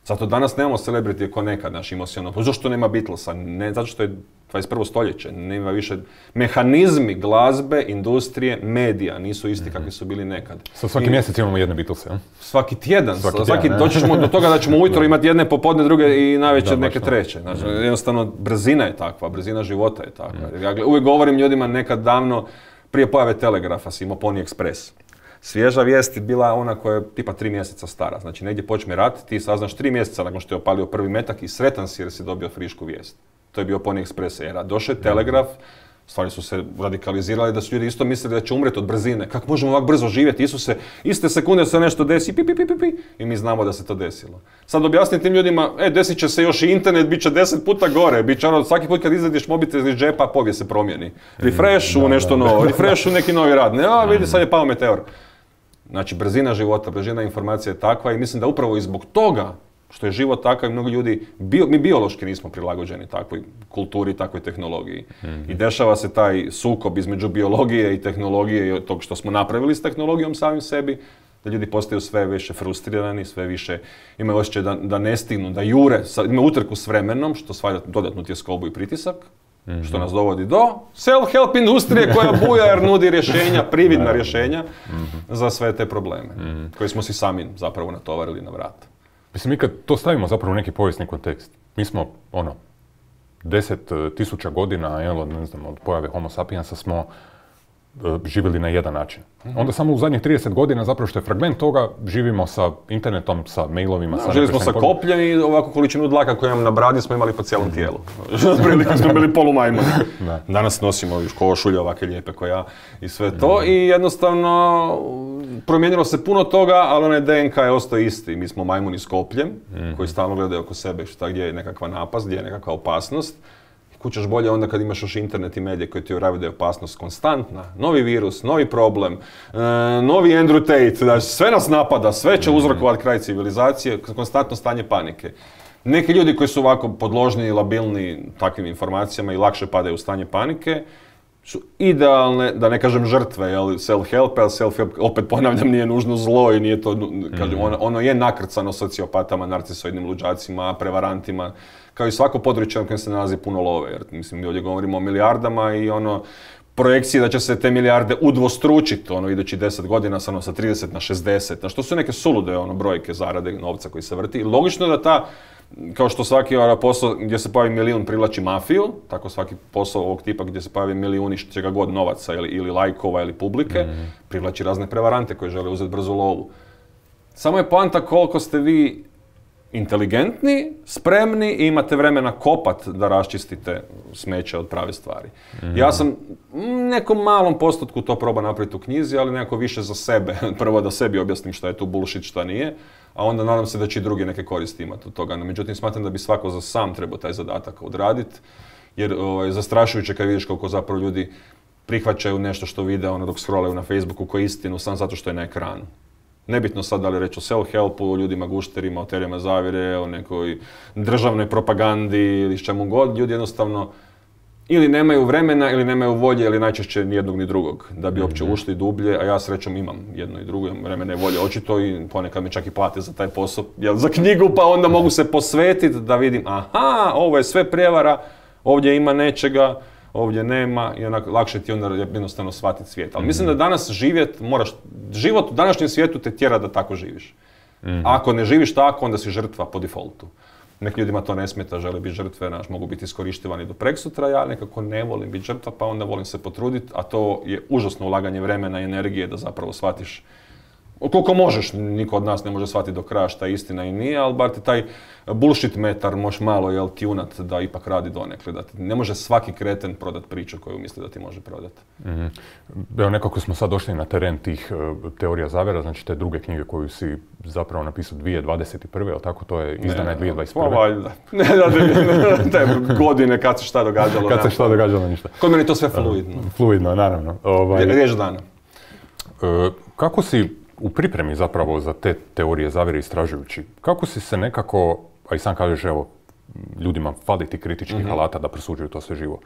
Zato danas nemamo celebritije ko nekad, znaš, imao si ono, zašto nema Beatlesa? Ne, zato što je dvadeset prvo stoljeće, nema više, mehanizmi glazbe, industrije, medija nisu isti kakvi su bili nekad. Sad svaki I, mjesec imamo jedne Beatlese, jel? Svaki tjedan, svaki, svaki tjedan, doći ćemo do toga da ćemo ujutro imati jedne, popodne druge i navečer da, neke treće. Znači, jednostavno, brzina je takva, brzina života je takva. Ja uvijek govorim ljudima nekad davno, prije pojave Telegrafa si imao Pony Express. Svježa vijest je bila ona koja je tipa tri mjeseca stara. Znači negdje počne rat, ti saznaš tri mjeseca nakon što je opalio prvi metak i sretan si jer si dobio frišku vijest. To je bio Pony Express era. Došao je Telegraf, stvari su se radikalizirali da su ljudi isto mislili da će umreti od brzine. Kako možemo ovako brzo živjeti? Isuse, iste sekunde se nešto desi, pi, pi, pi, pi, pi, i mi znamo da se to desilo. Sad objasni tim ljudima, e, desit će se još i internet, bit će deset puta gore, bit će ono, svaki put kad izvadiš mobitel iz džepa, povijest se promijeni. Refresh u nešto novo, refresh u neki novi rad. Ne, a vidi, sad je pao meteor. Znači, brzina života, brzina informacije je takva i mislim da upravo i zbog toga što je život takav, mnogo ljudi, bio, mi biološki nismo prilagođeni takvoj kulturi, takvoj tehnologiji. Mm-hmm. I dešava se taj sukob između biologije i tehnologije i tog što smo napravili s tehnologijom samim sebi, da ljudi postaju sve više frustrirani, sve više imaju osjećaj da, da ne stignu, da jure, imaju utrku s vremenom, što stvara dodatnu tjeskobu i pritisak. Mm-hmm. Što nas dovodi do self-help industrije koja buja jer nudi rješenja, prividna rješenja mm-hmm. za sve te probleme mm-hmm. koje smo si sami zapravo natovarili na vrat. Mislim, mi kad to stavimo zapravo u neki povijesni kontekst, mi smo, ono, deset tisuća godina, jel, ne znam, od pojave Homo sapiensa smo uh, živjeli na jedan način. Mm-hmm. Onda samo u zadnjih trideset godina, zapravo što je fragment toga, živimo sa internetom, sa mailovima, no, sa... Živjeli smo sa kopljem i ovako količinu dlaka koju imam na bradi smo imali po cijelom tijelu. Otprilike smo bili polumajmuni. Danas nosimo još košulje ovake lijepe koja ja i sve to mm-hmm. i jednostavno promijenilo se puno toga, ali onaj D N K je ostao isti. Mi smo majmuni s kopljem mm-hmm. koji stalno gledaju oko sebe šta gdje je nekakva napast, gdje je nekakva opasnost. Kućeš bolje onda kad imaš još internet i medije koji ti uvjeravaju da je opasnost konstantna. Novi virus, novi problem, e, novi Andrew Tate, znači sve nas napada, sve će uzrokovati kraj civilizacije, konstantno stanje panike. Neki ljudi koji su ovako podložni i labilni takvim informacijama i lakše padaju u stanje panike, su idealne, da ne kažem žrtve, jel, self-help, ali self-help, opet ponavljam, nije nužno zlo i nije to, kažem, ono, ono je nakrcano sociopatama, narcisoidnim luđacima, prevarantima, kao i svako područje na kojem se nalazi puno love, jer mislim, mi ovdje govorimo o milijardama i ono, projekcije da će se te milijarde udvostručiti, ono, idući deset godina, sa, ono, sa trideset na šezdeset, na što su neke sulude, ono, brojke zarade novca koji se vrti. Logično je da ta, kao što svaki posao gdje se pojavi milijun privlači mafiju, tako svaki posao ovog tipa gdje se pojavi milijuni čega god novaca ili, ili lajkova ili publike, mm-hmm. privlači razne prevarante koji žele uzeti brzu lovu. Samo je poanta koliko ste vi inteligentni, spremni i imate vremena kopat da raščistite smeće od prave stvari. Mm-hmm. Ja sam nekom malom postotku to probao napraviti u knjizi, ali nekako više za sebe. Prvo da sebi objasnim šta je tu bullshit, šta nije, a onda nadam se da će i drugi neke koristi imati od toga. No, međutim, smatram da bi svako za sam trebao taj zadatak odraditi, jer ovaj, zastrašujuće kad vidiš koliko zapravo ljudi prihvaćaju nešto što vide ono, dok scrollaju na Facebooku kao istinu, samo zato što je na ekranu. Nebitno sad da li reći o self-helpu, o ljudima gušterima, o teorijama zavjere, o nekoj državnoj propagandi ili s čemu god, ljudi jednostavno ili nemaju vremena ili nemaju volje ili najčešće ni jednog ni drugog da bi uopće ušli dublje, a ja srećom imam jedno i drugo, imam vremena i volje očito i ponekad me čak i plate za taj posao, jel, za knjigu, pa onda mogu se posvetiti da vidim aha, ovo je sve prijevara, ovdje ima nečega, ovdje nema i onako lakše ti onda jednostavno shvatiti svijet. Ali mislim da danas živjet, moraš, život u današnjem svijetu te tjera da tako živiš. Mm-hmm. Ako ne živiš tako, onda si žrtva po defaultu. Nekim ljudima to ne smeta, žele biti žrtve, naš, mogu biti iskorištavani do preksutra, ja nekako ne volim biti žrtva, pa onda volim se potruditi, a to je užasno ulaganje vremena i energije da zapravo shvatiš koliko možeš, niko od nas ne može shvatiti do kraja šta je istina i nije, ali bar ti taj bullshit metar možeš malo jel, tunat da ipak radi donekle. Da ti ne može svaki kreten prodat priču koju misli da ti može prodati. Mm-hmm. Evo, nekako smo sad došli na teren tih uh, teorija zavjera, znači te druge knjige koju si zapravo napisao dvije tisuće dvadeset prve, ali tako to je izdana dvije tisuće dvadeset prve. Pa valjda. Ne, da, te godine kad se šta događalo. Kad se šta događalo, ništa. Kod meni je to sve fluidno. Uh, fluidno, naravno. Ovaj, Riječ dana. Uh, kako si u pripremi zapravo za te teorije zavjere istražujući, kako si se nekako, a i sam kažeš, evo, ljudima fali ti kritičkih mm-hmm. alata da prosuđuju to sve živo.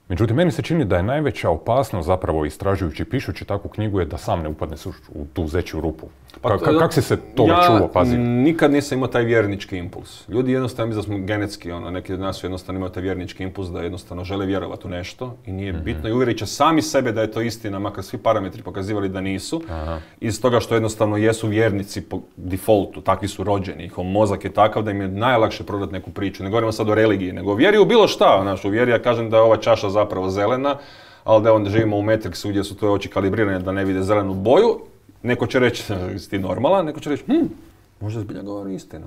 Međutim, meni se čini da je najveća opasnost zapravo istražujući, pišući takvu knjigu je da sam ne upadneš u tu zeću rupu. Pa, Ka- kako si se toga ja čuo, pazi? Nikad nisam imao taj vjernički impuls. Ljudi jednostavno misle da smo genetski, ono, neki od nas su jednostavno imaju taj vjernički impuls da jednostavno žele vjerovati u nešto i nije mm-hmm. bitno i uvjerit će sami sebe da je to istina, makar svi parametri pokazivali da nisu. Aha. Iz toga što jednostavno jesu vjernici po defaultu, takvi su rođeni, njihov mozak je takav da im je najlakše prodati neku priču. Ne govorimo sad o religiji, nego o vjeri u bilo šta. Znaš, u vjeri ja kažem da je ova čaša zapravo zelena, ali da onda živimo u Matrixu gdje su tvoje oči kalibrirane da ne vide zelenu boju. Neko će reći, si ti normalan, neko će reći, hm, možda zbilja govori istinu.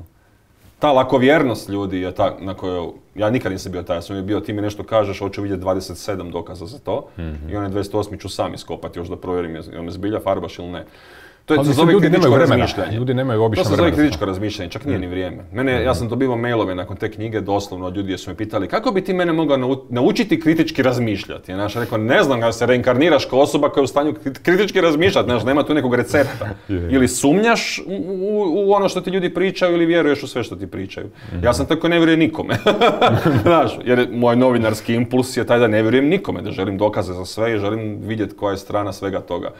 Ta lakovjernost ljudi je ta na kojoj, ja nikad nisam bio taj, ja sam je bio, ti mi nešto kažeš, hoću vidjeti dvadeset sedam dokaza za to, mm-hmm. i onaj dvadeset osmi ću sam iskopati još da provjerim je me zbilja farbaš ili ne. To je, se zove ljudi kritičko nemaju razmišljanje. Ljudi nemaju obično vremena. To se zove vremena. kritičko razmišljanje, čak nije mm. ni vrijeme. Mene, mm-hmm. ja sam dobivao mailove nakon te knjige, doslovno od ljudi su me pitali kako bi ti mene mogao naučiti kritički razmišljati. Ja rekao, ne znam, kada se reinkarniraš kao osoba koja je u stanju kritički razmišljati, znaš, nema tu nekog recepta. yeah. Ili sumnjaš u, u, u ono što ti ljudi pričaju ili vjeruješ u sve što ti pričaju. Mm-hmm. Ja sam tako ne vjerujem nikome. Znaš, jer moj novinarski impuls je taj da ne vjerujem nikome, da želim dokaze za sve i želim vidjeti koja je strana svega toga.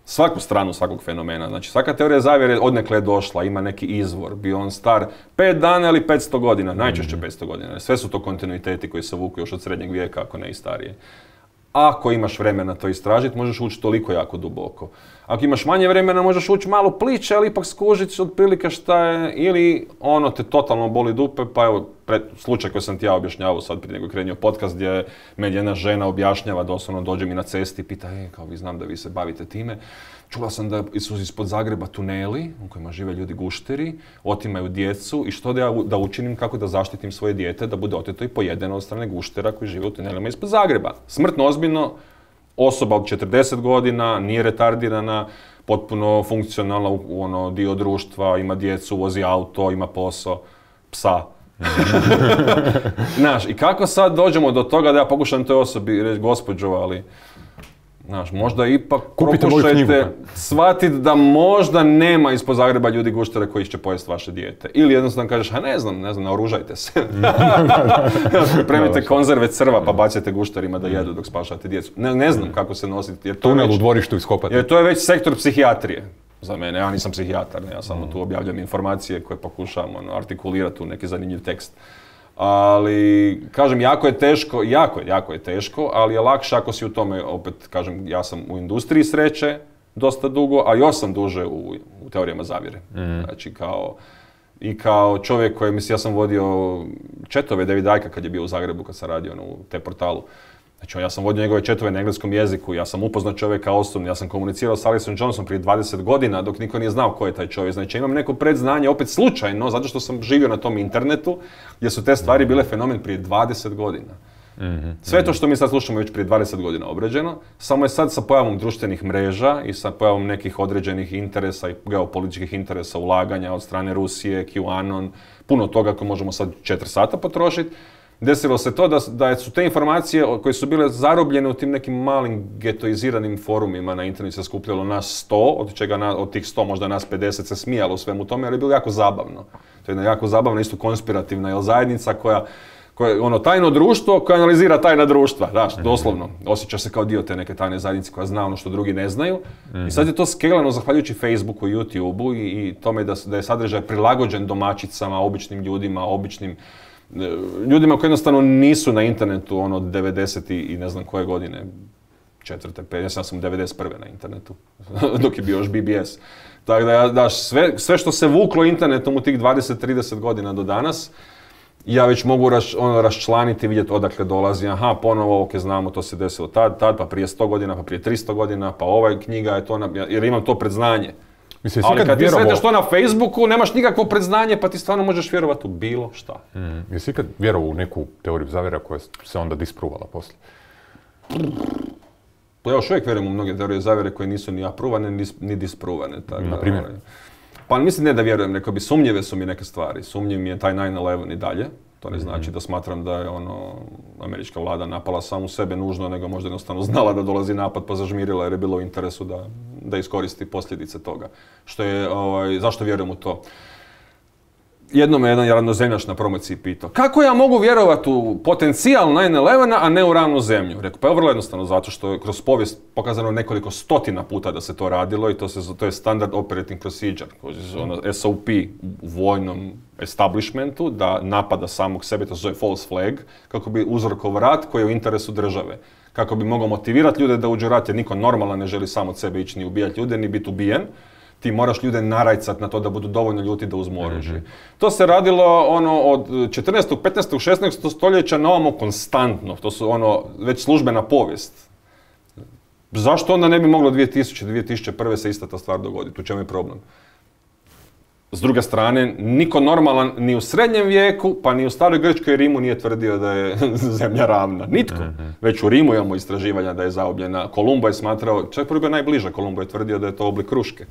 Svaku stranu svakog fenomena. Znači, svaka teorija zavjere odnekle je došla, ima neki izvor, bio on star pet dana ili petsto godina, najčešće petsto godina. Sve su to kontinuiteti koji se vuku još od srednjeg vijeka, ako ne i starije. Ako imaš vremena to istražiti, možeš ući toliko jako duboko. Ako imaš manje vremena, možeš ući malo pliće, ali ipak skužiti otprilike šta je, ili ono te totalno boli dupe, pa evo, pred, slučaj koji sam ti ja objašnjavao sad prije nego krenio podcast, gdje me jedna žena objašnjava, doslovno dođe mi na cesti i pita, e, kao vi znam da vi se bavite time, čula sam da su ispod Zagreba tuneli u kojima žive ljudi gušteri, otimaju djecu i što da ja da učinim, kako da zaštitim svoje dijete da bude oteto i pojedeno od strane guštera koji žive u tunelima ispod Zagreba. Smrtno ozbiljno, osoba od četrdeset godina, nije retardirana, potpuno funkcionalna u, u ono dio društva, ima djecu, vozi auto, ima posao, psa. Znaš, i kako sad dođemo do toga da ja pokušam toj osobi reći, gospođo, ali znaš, možda ipak kupite pokušajte shvatiti da možda nema ispod Zagreba ljudi guštere koji će pojesti vaše dijete. Ili jednostavno kažeš, a ne znam, ne znam, naoružajte se. Pripremite konzerve crva pa bacite gušterima da jedu dok spašate djecu. Ne, ne znam kako se nositi. Jer to tunel već, u dvorištu iskopati. Jer to je već sektor psihijatrije. Za mene, ja nisam psihijatar, ne, ja samo tu objavljam informacije koje pokušavam ono, artikulirati u neki zanimljiv tekst. Ali, kažem, jako je teško, jako je, jako je teško, ali je lakše ako si u tome, opet, kažem, ja sam u industriji sreće dosta dugo, a još sam duže u, u teorijama zavjere. Mm. Znači, kao, i kao čovjek koji, mislim, ja sam vodio četove Davida Icke kad je bio u Zagrebu, kad sam radio ono, u te portalu. Znači, ja sam vodio njegove četove na engleskom jeziku, ja sam upoznao čovjeka osobno, ja sam komunicirao s Alisom Johnsonom prije dvadeset godina dok niko nije znao ko je taj čovjek. Znači, imam neko predznanje, opet slučajno, zato što sam živio na tom internetu, gdje su te stvari bile fenomen prije dvadeset godina. Mm-hmm. Sve to što mi sad slušamo već prije dvadeset godina obrađeno, samo je sad sa pojavom društvenih mreža i sa pojavom nekih određenih interesa i geopolitičkih interesa, ulaganja od strane Rusije, QAnon, puno toga koje možemo sad četiri sata potrošiti. Desilo se to da, da su te informacije koje su bile zarobljene u tim nekim malim getoiziranim forumima na internetu se skupljalo nas sto, od čega na, od tih sto možda nas pedeset se smijalo u svemu tome, ali je bilo jako zabavno. To je jedna jako zabavna, isto konspirativna jel, zajednica koja, koja ono tajno društvo koje analizira tajna društva, znaš, doslovno. Osjeća se kao dio te neke tajne zajednice koja zna ono što drugi ne znaju. Mm-hmm. I sad je to skelano zahvaljujući Facebooku i YouTubeu i, i tome da, da je sadržaj prilagođen domaćicama, običnim ljudima, običnim ljudima koji jednostavno nisu na internetu ono devedeset i ne znam koje godine, četvrte, pet, ja sam devedeset prve na internetu, dok je bio još B B S. Tako da, da sve, sve što se vuklo internetom u tih dvadeset trideset godina do danas, ja već mogu raš, ono, raščlaniti, vidjeti odakle dolazi, aha, ponovo, ok, znamo, to se desilo tad, tad, pa prije sto godina, pa prije tristo godina, pa ova knjiga je to, na, jer imam to predznanje. Mislim, ali kad vjerovo... ti sretneš to na Facebooku, nemaš nikakvo predznanje, pa ti stvarno možeš vjerovati u bilo šta. Mm, jesi ikad vjerovao u neku teoriju zavjera koja se onda dispruvala poslije? Pa ja još uvijek vjerujem u mnoge teorije zavjere koje nisu ni apruvane, ni, ni dispruvane. Tako, na primjer? Pa mislim ne da vjerujem, rekao bi sumnjive su mi neke stvari. Sumnjiv mi je taj nine eleven i dalje. To ne znači mm-hmm. da smatram da je ono, američka vlada napala samu sebe nužno, nego možda jednostavno znala da dolazi napad pa zažmirila jer je bilo u interesu da, da iskoristi posljedice toga. Što je, ovaj, zašto vjerujem u to? Jednom me jedan ravnozemljaš na promociji pitao, kako ja mogu vjerovati u potencijal nine eleven, a ne u ravnu zemlju? Rekao, pa je vrlo jednostavno, zato što je kroz povijest pokazano nekoliko stotina puta da se to radilo i to, se, to je standard operating procedure, ono S O P u vojnom establishmentu, da napada samog sebe, to se zove false flag, kako bi uzrokovao rat koji je u interesu države. Kako bi mogao motivirati ljude da uđu u rat, jer niko normalan ne želi sam od sebe ići ni ubijati ljude, ni biti ubijen. Ti moraš ljude narajcat na to da budu dovoljno ljuti da uzmu oružje. Mm-hmm. To se radilo ono od četrnaestog, petnaestog, šesnaestog stoljeća na ovamo konstantno. To su ono već službena povijest. Zašto onda ne bi moglo dvije tisuće, dvije tisuće prve se ista ta stvar dogoditi? U čemu je problem? S druge strane, niko normalan ni u srednjem vijeku, pa ni u staroj Grčkoj i Rimu nije tvrdio da je zemlja ravna. Nitko. Mm-hmm. Već u Rimu imamo istraživanja da je zaobljena. Kolumbo je smatrao, čak prvi bio najbliža, Kolumbo je tvrdio da je to oblik kruške.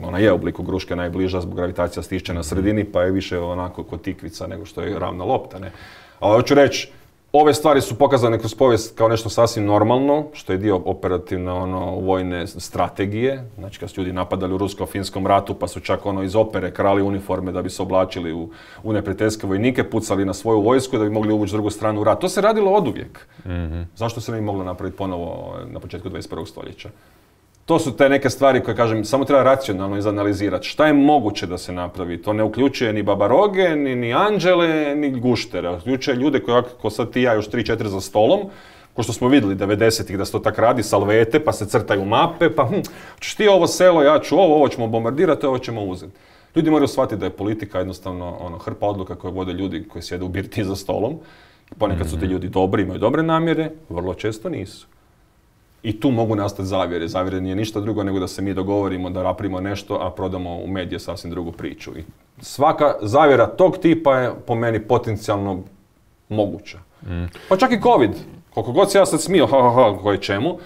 Ona je u obliku kruške najbliža zbog gravitacija stišće na sredini, pa je više onako kod tikvica nego što je ravna lopta. Ne? Ali hoću reći, ove stvari su pokazane kroz povijest kao nešto sasvim normalno, što je dio operativne ono, vojne strategije. Znači kad su ljudi napadali u rusko-finskom ratu, pa su čak ono iz opere krali uniforme da bi se oblačili u, u neprijateljske vojnike, pucali na svoju vojsku da bi mogli uvući drugu stranu u rat. To se radilo oduvijek. Mm-hmm. Zašto se ne bi moglo napraviti ponovo na početku dvadeset prvog stoljeća? To su te neke stvari koje, kažem, samo treba racionalno izanalizirati. Šta je moguće da se napravi? To ne uključuje ni babaroge, ni, ni anđele, ni guštere. Uključuje ljude koji, ako sad ti ja još tri četiri za stolom, ko što smo vidjeli devedesetih da se to tak radi, salvete, pa se crtaju mape, pa hm, ćeš ti ovo selo, ja ću ovo, ovo ćemo bombardirati, ovo ćemo uzeti. Ljudi moraju shvatiti da je politika jednostavno ono, hrpa odluka koje vode ljudi koji sjede u birti za stolom. Ponekad su ti ljudi dobri, imaju dobre namjere, vrlo često nisu. I tu mogu nastati zavjere. Zavjere nije ništa drugo nego da se mi dogovorimo da napravimo nešto, a prodamo u medije sasvim drugu priču. I svaka zavjera tog tipa je po meni potencijalno moguća. Mm. Pa čak i COVID. Koliko god se ja sad smio, ha, ha, ha, koje čemu.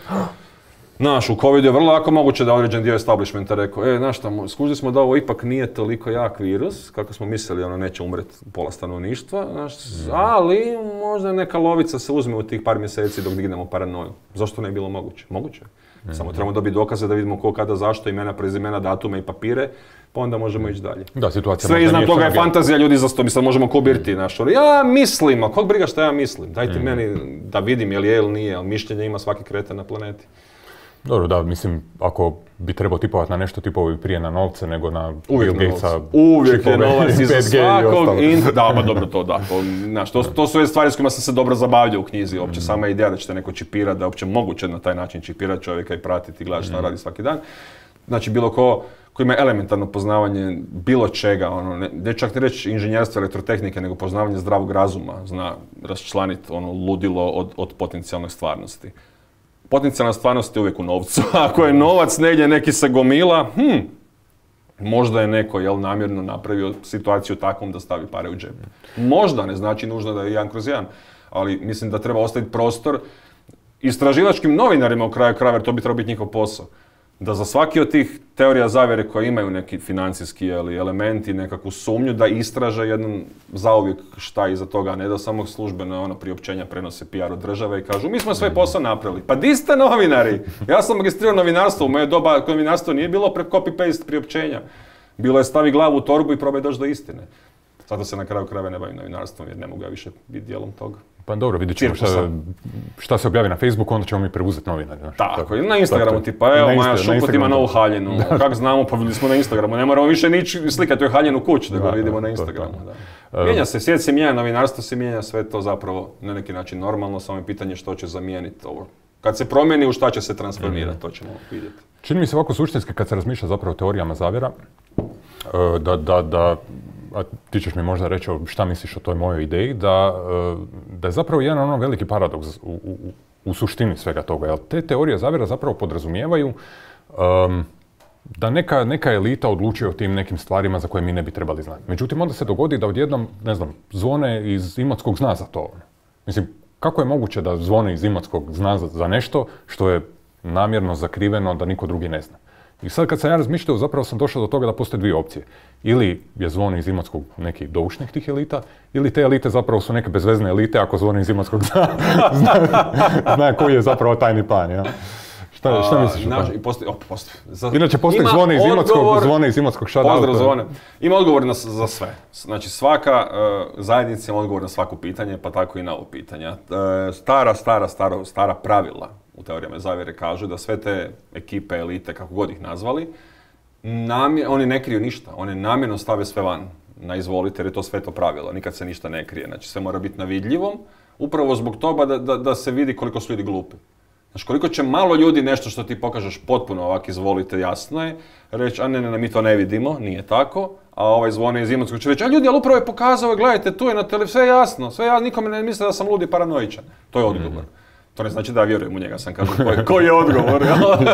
Znaš, u covidu je vrlo lako moguće da određen dio establishmenta rekao, e, znaš šta, skužili smo da ovo ipak nije toliko jak virus, kako smo mislili, ono, neće umreti pola stanovništva, znaš, mm. ali možda neka lovica se uzme u tih par mjeseci dok dignemo paranoju. Zašto ne je bilo moguće? Moguće. Mm. Samo trebamo dobiti dokaze da vidimo ko, kada, zašto, imena, prezimena, datume i papire, pa onda možemo ići dalje. Da, situacija sve iznad toga je fantazija ljudi za sto, mi sad možemo kubirti, znaš, ja mislim, a kog briga šta ja mislim? Dajte mm. meni da vidim je li je ili nije, ali mišljenje ima svaki kretan na planeti. Dobro, da, mislim, ako bi trebao tipovati na nešto, tipovo bi prije na novce nego na Bill Gatesa. Uvijek je novac iza svakog. In... Da, pa dobro to, da. To, znaš, to, to su stvari s kojima sam se dobro zabavljao u knjizi. Uopće mm. sama ideja da ćete neko čipirati, da je uopće moguće na taj način čipirati čovjeka i pratiti i gledati šta mm. radi svaki dan. Znači, bilo ko koji ima elementarno poznavanje bilo čega, ono, ne, ne čak ne reći inženjerstva, elektrotehnike, nego poznavanje zdravog razuma, zna raščlaniti ono ludilo od, od potencijalne stvarnosti. Potencijalna stvarnost je uvijek u novcu. Ako je novac negdje neki se gomila, hm, možda je neko jel, namjerno napravio situaciju takvom da stavi pare u džep. Možda, ne znači nužno da je jedan kroz jedan, ali mislim da treba ostaviti prostor istraživačkim novinarima u kraju krajeva, jer to bi trebao biti njihov posao. Da za svaki od tih teorija zavjere koje imaju neki financijski ili elementi, nekakvu sumnju, da istraže jednom zauvijek šta iza toga, a ne da samo službeno ono priopćenja prenose P R od države i kažu mi smo svoj posao napravili. Pa di ste novinari? Ja sam magistrirao novinarstvo, u moje doba novinarstvo nije bilo pre copy-paste priopćenja. Bilo je stavi glavu u torbu i probaj doći do istine. Zato se na kraju krajeva ne bavim novinarstvom jer ne mogu ja više biti dijelom toga. Pa dobro, vidjet ćemo šta, šta se objavi na Facebooku, onda ćemo mi preuzeti novinari. Znaš, tako, tako, na Instagramu tipa, evo Maja Šuput ima novu haljinu, kak znamo, pa vidjeli smo na Instagramu, ne moramo više nići slikati joj haljenu kuću, da ga vidimo na Instagramu. Da. Mijenja se, svijet se mijenja, novinarstvo se mijenja, sve to zapravo na neki način normalno, samo je pitanje što će zamijeniti ovo. Kad se promijeni, u šta će se transformirati, to ćemo vidjeti. Čini mi se ovako suštinski kad se razmišlja zapravo o teorijama zavjera, da, da, da a ti ćeš mi možda reći šta misliš o toj mojoj ideji, da, da je zapravo jedan ono veliki paradoks u, u, u suštini svega toga. Jer te teorije zavjera zapravo podrazumijevaju um, da neka, neka elita odlučuje o tim nekim stvarima za koje mi ne bi trebali znati. Međutim, onda se dogodi da odjednom, ne znam, Zvone iz Imotskog zna za to. Mislim, kako je moguće da Zvone iz Imotskog zna za, za nešto što je namjerno zakriveno da niko drugi ne zna? I sad kad sam ja razmišljao, zapravo sam došao do toga da postoje dvije opcije. Ili je Zvone iz Imotskog neki doušnik tih elita, ili te elite zapravo su neke bezvezne elite ako Zvone iz Imotskog zna, zna, zna koji je zapravo tajni plan, ja? Šta, šta misliš o tome? Postoji, op, postoji. Za, Inače postoji Zvone iz Imotskog, Zvone iz Imotskog, šta da? Pozdrav Zvone. Ima odgovor na, za sve. Znači svaka uh, zajednica ima odgovor na svako pitanje, pa tako i na ovo pitanje. Uh, stara, stara, stara, stara pravila u teorijama zavjere kažu da sve te ekipe, elite, kako god ih nazvali, namjer, oni ne kriju ništa. Oni namjerno stave sve van na izvolite, jer je to sve to pravilo. Nikad se ništa ne krije. Znači sve mora biti na vidljivom, upravo zbog toga da, da, da se vidi koliko su ljudi glupi. Znači, koliko će malo ljudi nešto što ti pokažeš potpuno ovak izvolite, jasno je, reći, a ne, ne, ne, mi to ne vidimo, nije tako, a ovaj Zvone iz Imotskog će reći, a ljudi, ali upravo je pokazao, gledajte, tu je na televiziji, sve jasno, sve ja, nikome ne misle da sam lud i paranoičan. To je odgovor. Mm-hmm. To ne znači da ja vjerujem u njega, sam kažem, koji, koji je odgovor, jel?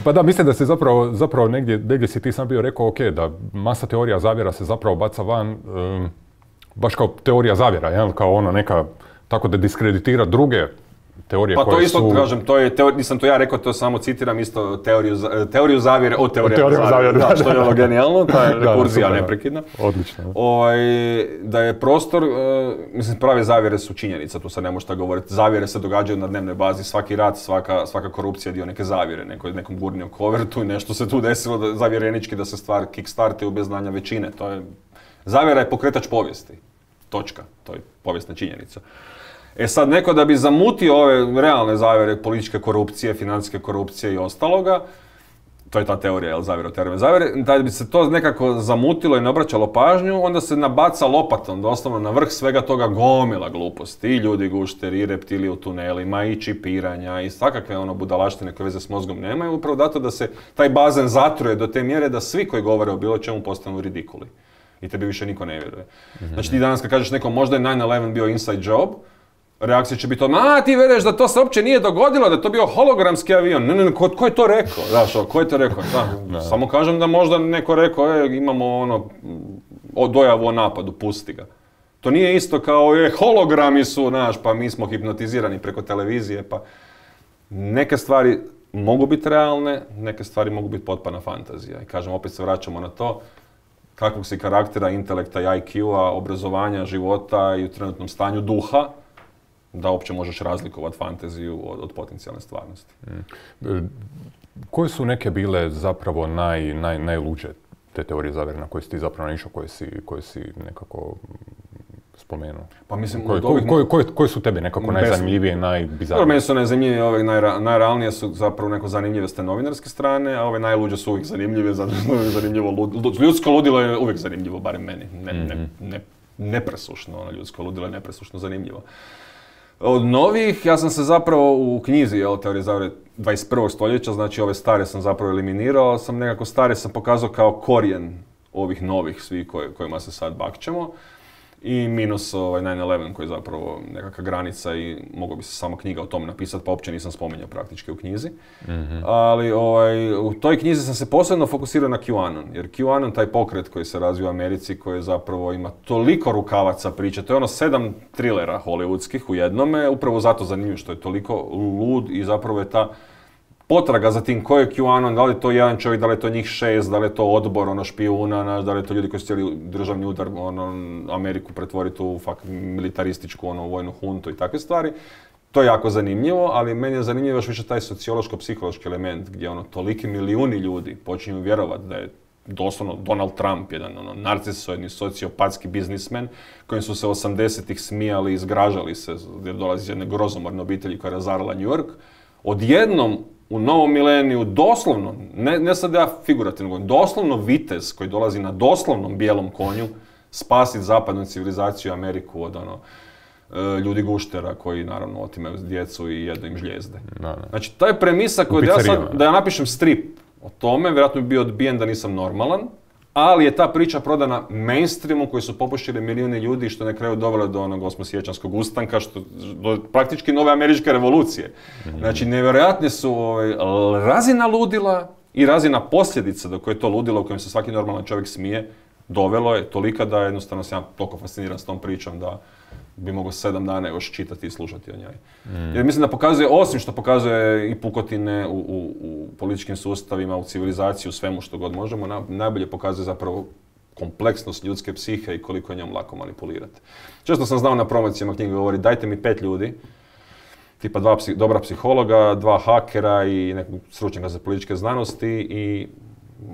Pa da, mislim da se zapravo, zapravo negdje, negdje si ti sam bio rekao, ok, da masa teorija zavjera se zapravo baca van, um, baš kao teorija zavjera, jel? Kao ono neka, tako da diskreditira druge teorije pa koje to isto su... kažem, to je teorija, nisam to ja rekao, to samo citiram isto teoriju, teoriju zavjere od teorije zavjere, zavjere, da, što je ono genijalno, ta je rekurzija neprekidna. Odlično. O, da je prostor, uh, mislim, prave zavjere su činjenica, tu sad ne možeš tako govoriti. Zavjere se događaju na dnevnoj bazi, svaki rat, svaka, svaka korupcija je dio neke zavjere, neko, nekom gurnio kovertu i nešto se tu desilo da, zavjerenički da se stvar kickstarti bez znanja većine. To je, zavjera je pokretač povijesti, točka, to je povijesna činjenica. E sad, neko da bi zamutio ove realne zavjere, političke korupcije, financijske korupcije i ostaloga, to je ta teorija, jel, zavjera, teorija zavjere, da bi se to nekako zamutilo i ne obraćalo pažnju, onda se nabaca lopatom, doslovno na vrh svega toga gomila gluposti, i ljudi gušteri, i reptili u tunelima, i čipiranja, i svakakve ono budalaštine koje veze s mozgom nemaju, upravo zato da se taj bazen zatruje do te mjere da svi koji govore o bilo čemu postanu ridikuli. I tebi više niko ne vjeruje. Mm-hmm. Znači ti danas kad kažeš nekom možda je nine eleven bio inside job, reakcija će biti odmah, a ti vjeruješ da to se uopće nije dogodilo, da je to bio hologramski avion. Ne, ne, ne, ko, ko je to rekao? Znaš, ko je to rekao? Da, samo kažem da možda neko rekao, e, imamo ono, o, dojavu o napadu, pusti ga. To nije isto kao, je, hologrami su, znaš, pa mi smo hipnotizirani preko televizije, pa neke stvari mogu biti realne, neke stvari mogu biti potpuna fantazija. I kažem, opet se vraćamo na to, kakvog si karaktera, intelekta i I Q-a, obrazovanja, života i u trenutnom stanju duha, da uopće možeš razlikovati fantaziju od, od potencijalne stvarnosti. Mm. Koje su neke bile zapravo naj, naj, najluđe te teorije zavjere na koje si ti zapravo naišao, koje si, koje si nekako spomenuo? Pa mislim, koje, ovih... koje, koje, koje su tebi nekako najzanimljivije, najbizarnije? Meni su najzanimljivije, ove najra, najrealnije su zapravo neko zanimljive s te novinarske strane, a ove najluđe su uvijek zanimljive, zato što je zanimljivo, lud, ljudsko ludilo je uvijek zanimljivo, barem meni, ne, mm-hmm. ne, ne, nepresušno, ono ljudsko ludilo je nepresušno zanimljivo. Od novih, ja sam se zapravo u knjizi, jel, teorije zavjere dvadeset prvog stoljeća, znači ove stare sam zapravo eliminirao, sam nekako stare sam pokazao kao korijen ovih novih svih koj, kojima se sad bakćemo. I minus ovaj nine eleven koji je zapravo nekakva granica i mogao bi se samo knjiga o tom napisati, pa uopće nisam spominjao praktički u knjizi. Mm-hmm. Ali ovaj, u toj knjizi sam se posebno fokusirao na QAnon, jer QAnon, taj pokret koji se razvio u Americi, koji zapravo ima toliko rukavaca priče, to je ono sedam trilera hollywoodskih u jednome, upravo zato zanimljivo što je toliko lud i zapravo je ta potraga za tim ko je QAnon, da li je to jedan čovjek, da li je to njih šest, da li je to odbor ono špijuna, da li je to ljudi koji su htjeli državni udar ono, Ameriku pretvoriti u fakt militarističku ono, vojnu huntu i takve stvari. To je jako zanimljivo, ali meni je zanimljivo još više taj sociološko-psihološki element gdje ono, toliki milijuni ljudi počinju vjerovati da je doslovno Donald Trump, jedan ono, narcisoidni, sociopatski biznismen, kojim su se osamdesetih smijali i zgražali se jer dolazi iz jedne grozomorne obitelji koja je razarala New York. Odjednom u novom mileniju doslovno, ne, ne sad ja figurativno, doslovno vitez koji dolazi na doslovnom bijelom konju spasiti zapadnu civilizaciju Ameriku od ono, ljudi guštera koji naravno otimaju djecu i jedu im žljezde. Da, da. Znači, taj premisa koju da ja, sad, da ja napišem strip o tome, vjerojatno bi bio odbijen da nisam normalan, ali je ta priča prodana mainstreamu koji su popušili milijuni ljudi što na kraju dovelo do onog osmosiječanskog ustanka, što, do praktički nove američke revolucije. Mm-hmm. Znači, nevjerojatne su ovaj, razina ludila i razina posljedica do koje je to ludilo, u kojem se svaki normalan čovjek smije, dovelo je tolika da jednostavno sam ja toliko fasciniran s tom pričom da bi mogao sedam dana još čitati i slušati o njoj. Mm. Jer mislim da pokazuje, osim što pokazuje i pukotine u, u, u političkim sustavima, u civilizaciji, u svemu što god možemo, na, najbolje pokazuje zapravo kompleksnost ljudske psihe i koliko je njom lako manipulirati. Često sam znao na promocijama knjige govori dajte mi pet ljudi, tipa dva psi, dobra psihologa, dva hakera i nekog stručnjaka za političke znanosti i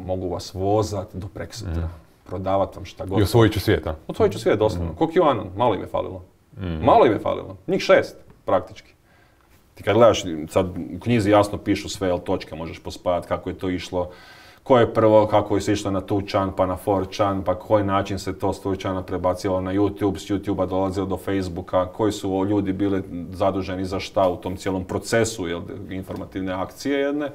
mogu vas vozat do preksutra. Mm. Prodavat vam šta god. I osvojit ću svijet, a? Osvojit ću svijet, doslovno. Mm. Ko QAnon, malo im je falilo. Mm. Malo im je falilo. Njih šest, praktički. Ti kad gledaš, sad u knjizi jasno pišu sve, jel točke možeš pospajati, kako je to išlo, ko je prvo, kako je se išlo na two chan, pa na four chan, pa koji način se to s two chana prebacilo na YouTube, s YouTubea dolazilo do Facebooka, koji su ljudi bili zaduženi za šta u tom cijelom procesu, jel, informativne akcije jedne.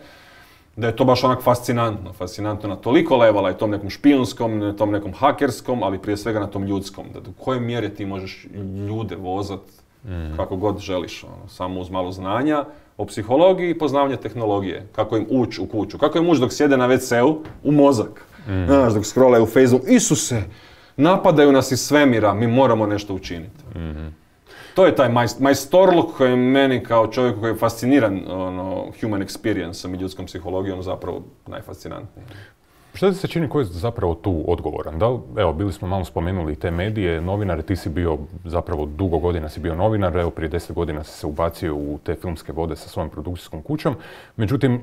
Da je to baš onak fascinantno, fascinantno na toliko levala i tom nekom špijunskom, na tom nekom hakerskom, ali prije svega na tom ljudskom. Da do koje mjere ti možeš ljude vozat mm. kako god želiš, ono, samo uz malo znanja o psihologiji i poznavanje tehnologije. Kako im ući u kuću, kako im ući dok sjede na ve ce u u mozak. Mm. Znaš, dok scrollaju u Facebook, Isuse, napadaju nas iz svemira, mi moramo nešto učiniti. Mm-hmm. To je taj majstorluk koji je meni kao čovjeku koji je fasciniran ono, human experience-om i ljudskom psihologijom zapravo najfascinantniji. Što ti se čini koji je zapravo tu odgovoran? Da li, evo, bili smo malo spomenuli te medije, novinare, ti si bio zapravo dugo godina si bio novinar, evo prije deset godina si se ubacio u te filmske vode sa svojom produkcijskom kućom. Međutim, e,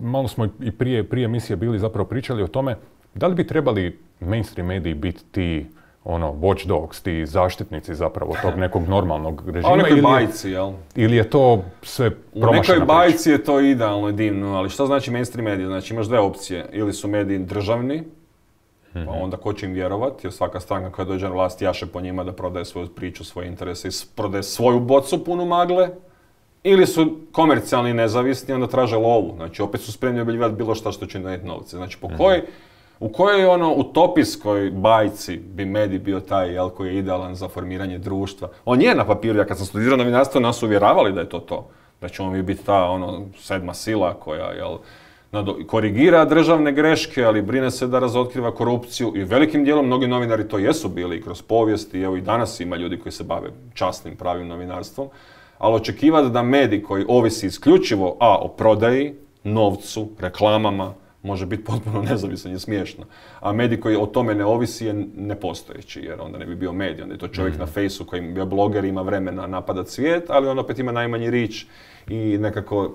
malo smo i prije, prije emisije bili zapravo pričali o tome da li bi trebali mainstream mediji biti ti ono, watchdogs, ti zaštitnici zapravo tog nekog normalnog režima. A u nekoj bajci, jel? Ili je to sve promašena priča? U nekoj bajci je to idealno i divno, ali što znači mainstream mediji? Znači imaš dve opcije, ili su mediji državni, mm-hmm. pa onda ko će im vjerovati, jer svaka stranka koja dođe na vlast jaše po njima da prodaje svoju priču, svoje interese i prodaje svoju bocu punu magle, ili su komercijalni i nezavisni, onda traže lovu, znači opet su spremni objavljivati bilo šta što će im donijeti novce. Znači po mm-hmm. kojoj U kojoj ono utopijskoj bajci bi medij bio taj, jel, koji je idealan za formiranje društva? On je na papiru, ja kad sam studirao novinarstvo, nas uvjeravali da je to to. Da ćemo mi biti ta ono, sedma sila koja, jel, korigira državne greške, ali brine se da razotkriva korupciju i velikim dijelom mnogi novinari to jesu bili i kroz povijest i evo i danas ima ljudi koji se bave časnim, pravim novinarstvom. Ali očekivati da medij koji ovisi isključivo a o prodaji, novcu, reklamama, može biti potpuno nezavisan i smiješno. A medij koji o tome ne ovisi je nepostojeći, jer onda ne bi bio medij. Onda je to čovjek mm. na fejsu koji je bloger, ima vremena napadat svijet, ali on opet ima najmanji rič i nekako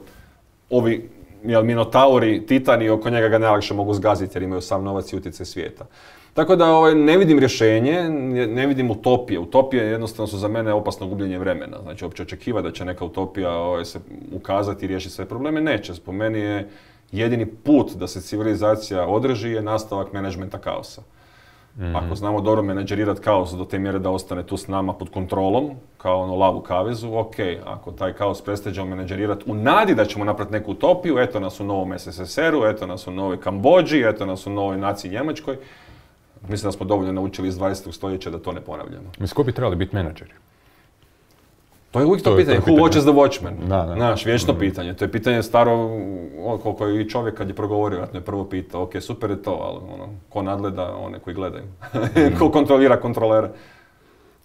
ovi jel, minotauri, titani, oko njega ga najlakše mogu zgaziti jer imaju sav novac i utjecaj svijeta. Tako da ovaj, ne vidim rješenje, ne vidim utopije. Utopije jednostavno su za mene opasno gubljenje vremena. Znači, uopće očekiva da će neka utopija ovaj, se ukazati i riješiti sve probleme, neće. Po meni je jedini put da se civilizacija održi je nastavak menadžmenta kaosa. Mm-hmm. Ako znamo dobro menadžerirati kaos do te mjere da ostane tu s nama pod kontrolom, kao ono lav u kavezu, ok, ako taj kaos prestađemo menadžerirati u nadi da ćemo napraviti neku utopiju, eto nas u novom es es es eru, eto nas u novoj Kambodži, eto nas u novoj naciji Njemačkoj, mislim da smo dovoljno naučili iz dvadesetog stoljeća da to ne ponavljamo. Mislim, ko bi trebali biti menadžeri? To je uvijek to, to pitanje, who watches the watchmen? Da, da. Znaš, vječno mm. pitanje. To je pitanje staro, koliko je i čovjek kad je progovorio, vjerojatno je prvo pitao, ok, super je to, ali ono, ko nadgleda one koji gledaju? Mm. Ko kontrolira kontrolere?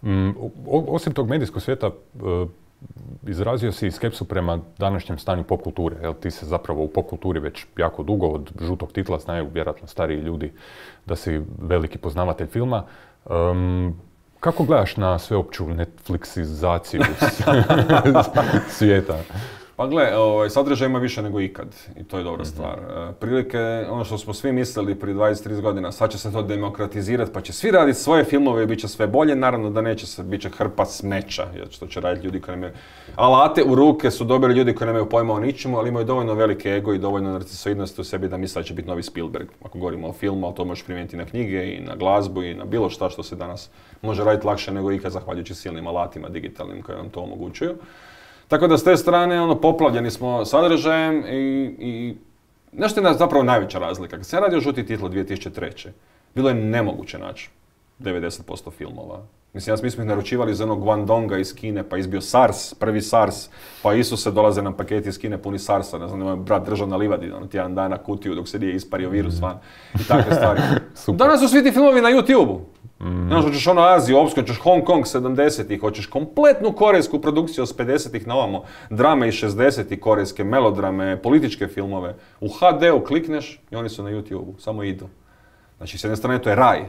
Mm, osim tog medijskog svijeta, uh, izrazio si skepsu prema današnjem stanju pop kulture. Jel, ti se zapravo u pop kulturi već jako dugo, od žutog titla znaju vjerojatno stariji ljudi da si veliki poznavatelj filma. Um, Kako gledaš na sveopću Netflixizaciju svijeta? Pa gle, ovaj, sadržaj ima više nego ikad i to je dobra mm-hmm. stvar. E, prilike, ono što smo svi mislili prije dvadeset trideset godina, sad će se to demokratizirati pa će svi raditi svoje filmove i bit će sve bolje, naravno da neće se, bit će hrpa smeća, jer što će raditi ljudi koji nemaju alate u ruke, su dobili ljudi koji nemaju pojma o ničemu, ali imaju dovoljno velike ego i dovoljno narcisoidnosti u sebi da misle da će biti novi Spielberg. Ako govorimo o filmu, ali to možeš primijeniti na knjige i na glazbu i na bilo šta što se danas može raditi lakše nego ikad zahvaljujući silnim alatima digitalnim koji vam to omogućuju. Tako da s te strane ono, poplavljeni smo sadržajem i, i nešto je zapravo najveća razlika. Kad se radio Žuti titl dvije tisuće treće. bilo je nemoguće naći devedeset posto filmova Mislim, ja mi smo ih naručivali za onog Guangdonga iz Kine, pa izbio SARS, prvi SARS, pa Isuse dolaze nam paketi iz Kine puni SARS-a, ne znam, moj brat držao na livadi, ono, tjedan dana kutiju dok se nije ispario virus van i takve stvari. Danas su svi ti filmovi na YouTube-u. Mm. Znaš, hoćeš ono Aziju, Opsku, hoćeš Hong Kong sedamdesetih, hoćeš kompletnu korejsku produkciju s pedesetih na ovamo, drame iz šezdesetih, korejske melodrame, političke filmove. U ha de u klikneš i oni su na YouTube-u, samo idu. Znači, s jedne strane to je raj.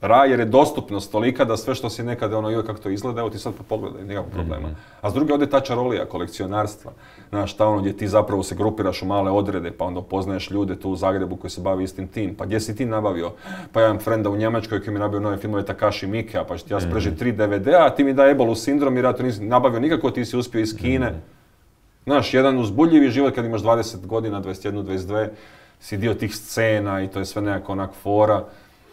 Raj jer je dostupnost tolika da sve što si nekada ono, joj kako to izgleda, evo ti sad pogledaj, nikakvog problema. A s druge ode ta čarolija, kolekcionarstva. Znaš, ta ono gdje ti zapravo se grupiraš u male odrede, pa onda upoznaješ ljude tu u Zagrebu koji se bavi istim tim. Pa gdje si ti nabavio? Pa ja imam frenda u Njemačkoj koji mi je nabavio nove filmove Takashi Miikea, pa ću ti ja spreži tri de ve de-a, a ti mi da Ebolu sindrom jer ja to nisam nabavio nikako, ti si uspio iz Kine. Znaš, jedan uzbudljivi život kad imaš dvadeset godina, dvadeset jedan, dvadeset dvije, si dio tih scena i to je sve nekako onak fora.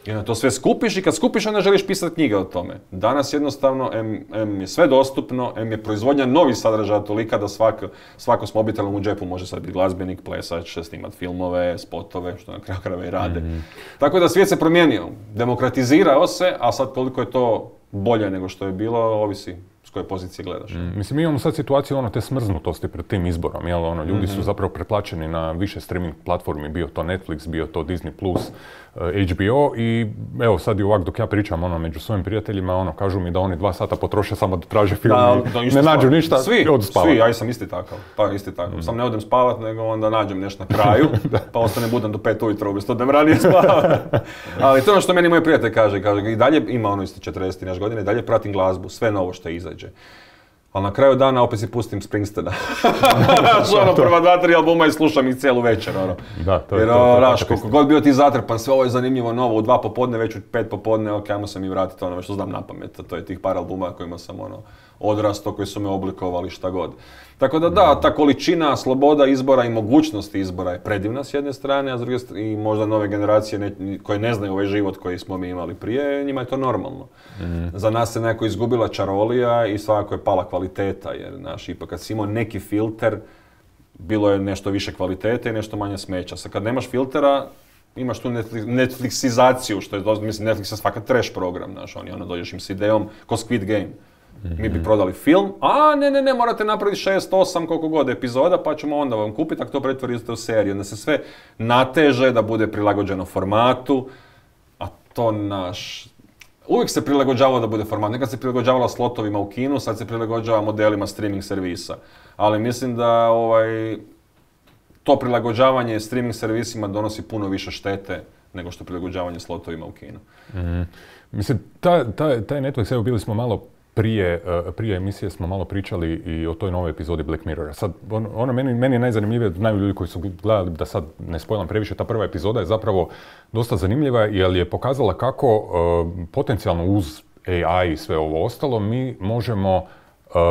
I onda to sve skupiš i kad skupiš onda želiš pisati knjige o tome. Danas jednostavno, em, em je sve dostupno, em je proizvodnja novih sadržaja tolika da svako, svako s mobitelom u džepu može sad biti glazbenik, plesač, snimat filmove, spotove, što na kraju krajeva i rade. Mm-hmm. Tako da svijet se promijenio, demokratizirao se, a sad koliko je to bolje nego što je bilo, ovisi s koje pozicije gledaš. Mm, mislim, mi imamo sad situaciju ono, te smrznutosti pred tim izborom, jel? Ono, ljudi mm-hmm. su zapravo preplaćeni na više streaming platformi, bio to Netflix, bio to Disney plus, uh, H B O i evo sad i ovak dok ja pričam ono, među svojim prijateljima, ono, kažu mi da oni dva sata potroše samo da traže film da, i da, ne nađu ništa svi, i odu spavat. Svi, ja sam isti takav, pa isti takav. Mm. Sam ne odem spavat, nego onda nađem nešto na kraju, pa ostane budan do pet ujutro, umjesto da ranije spavat. Ali to je ono što meni moj prijatelj kaže, kaže i dalje ima ono isto četrdeset nešto godine, i dalje pratim glazbu, sve novo što izađe. Ali na kraju dana opet si pustim Springsteena. Znaš, ono, prva dva, tri albuma i slušam ih cijelu večer, ono. Da, to je jer, to. Znaš, koliko god bio ti zatrpan, sve ovo je zanimljivo novo, u dva popodne, već u pet popodne, ok, ajmo se mi vratiti ono što znam na pamet. To je tih par albuma kojima sam, ono, odrasto, koji su me oblikovali, šta god. Tako da da, ta količina, sloboda izbora i mogućnosti izbora je predivna s jedne strane, a s druge strane i možda nove generacije ne, koje ne znaju ovaj život koji smo mi imali prije, njima je to normalno. Mm. Za nas se nekako izgubila čarolija i svakako je pala kvaliteta, jer znaš, ipak kad si imao neki filter, bilo je nešto više kvalitete i nešto manje smeća. Sad kad nemaš filtera, imaš tu Netflixizaciju, što je, mislim, Netflix je svaka trash program, znaš, oni ono dođeš im s idejom, ko Squid Game. Mi bi prodali film, a ne, ne, ne, morate napraviti šest, osam, koliko god epizoda, pa ćemo onda vam kupiti, ako to pretvorite u seriju. Onda se sve nateže da bude prilagođeno formatu, a to naš... Uvijek se prilagođavalo da bude format. Nekad se prilagođavalo slotovima u kinu, sad se prilagođava modelima streaming servisa. Ali mislim da ovaj, to prilagođavanje streaming servisima donosi puno više štete nego što prilagođavanje slotovima u kinu. Mm. Mislim, taj, taj, taj Netflix, evo bili smo malo Prije, prije emisije smo malo pričali i o toj novoj epizodi Black Mirrora. Sad, ono, ono meni, meni je najzanimljivije, znaju ljudi koji su gledali, da sad ne spojlam previše, ta prva epizoda je zapravo dosta zanimljiva jer je pokazala kako uh, potencijalno uz A I i sve ovo ostalo mi možemo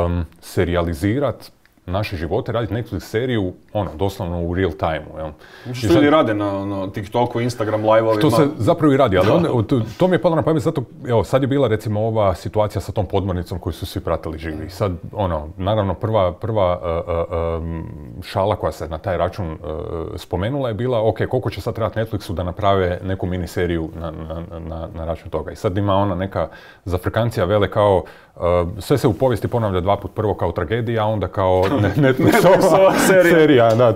um, serijalizirati naše živote, raditi Netflix seriju, ono, doslovno u real time-u, jel? Što ljudi rade na, na TikToku, Instagram live-ovima. Što se zapravo i radi, ali onda, to, to mi je palo na pamet zato, evo, sad je bila recimo ova situacija sa tom podmornicom koju su svi pratili živi. Sad, ono, naravno, prva, prva uh, um, šala koja se na taj račun uh, spomenula je bila, ok, koliko će sad trebati Netflixu da naprave neku miniseriju na, na, na, na račun toga. I sad ima ona neka zafrikancija vele kao, uh, sve se u povijesti ponavlja dva put, prvo kao tragedija, a onda kao Netflixova serija. serija, da,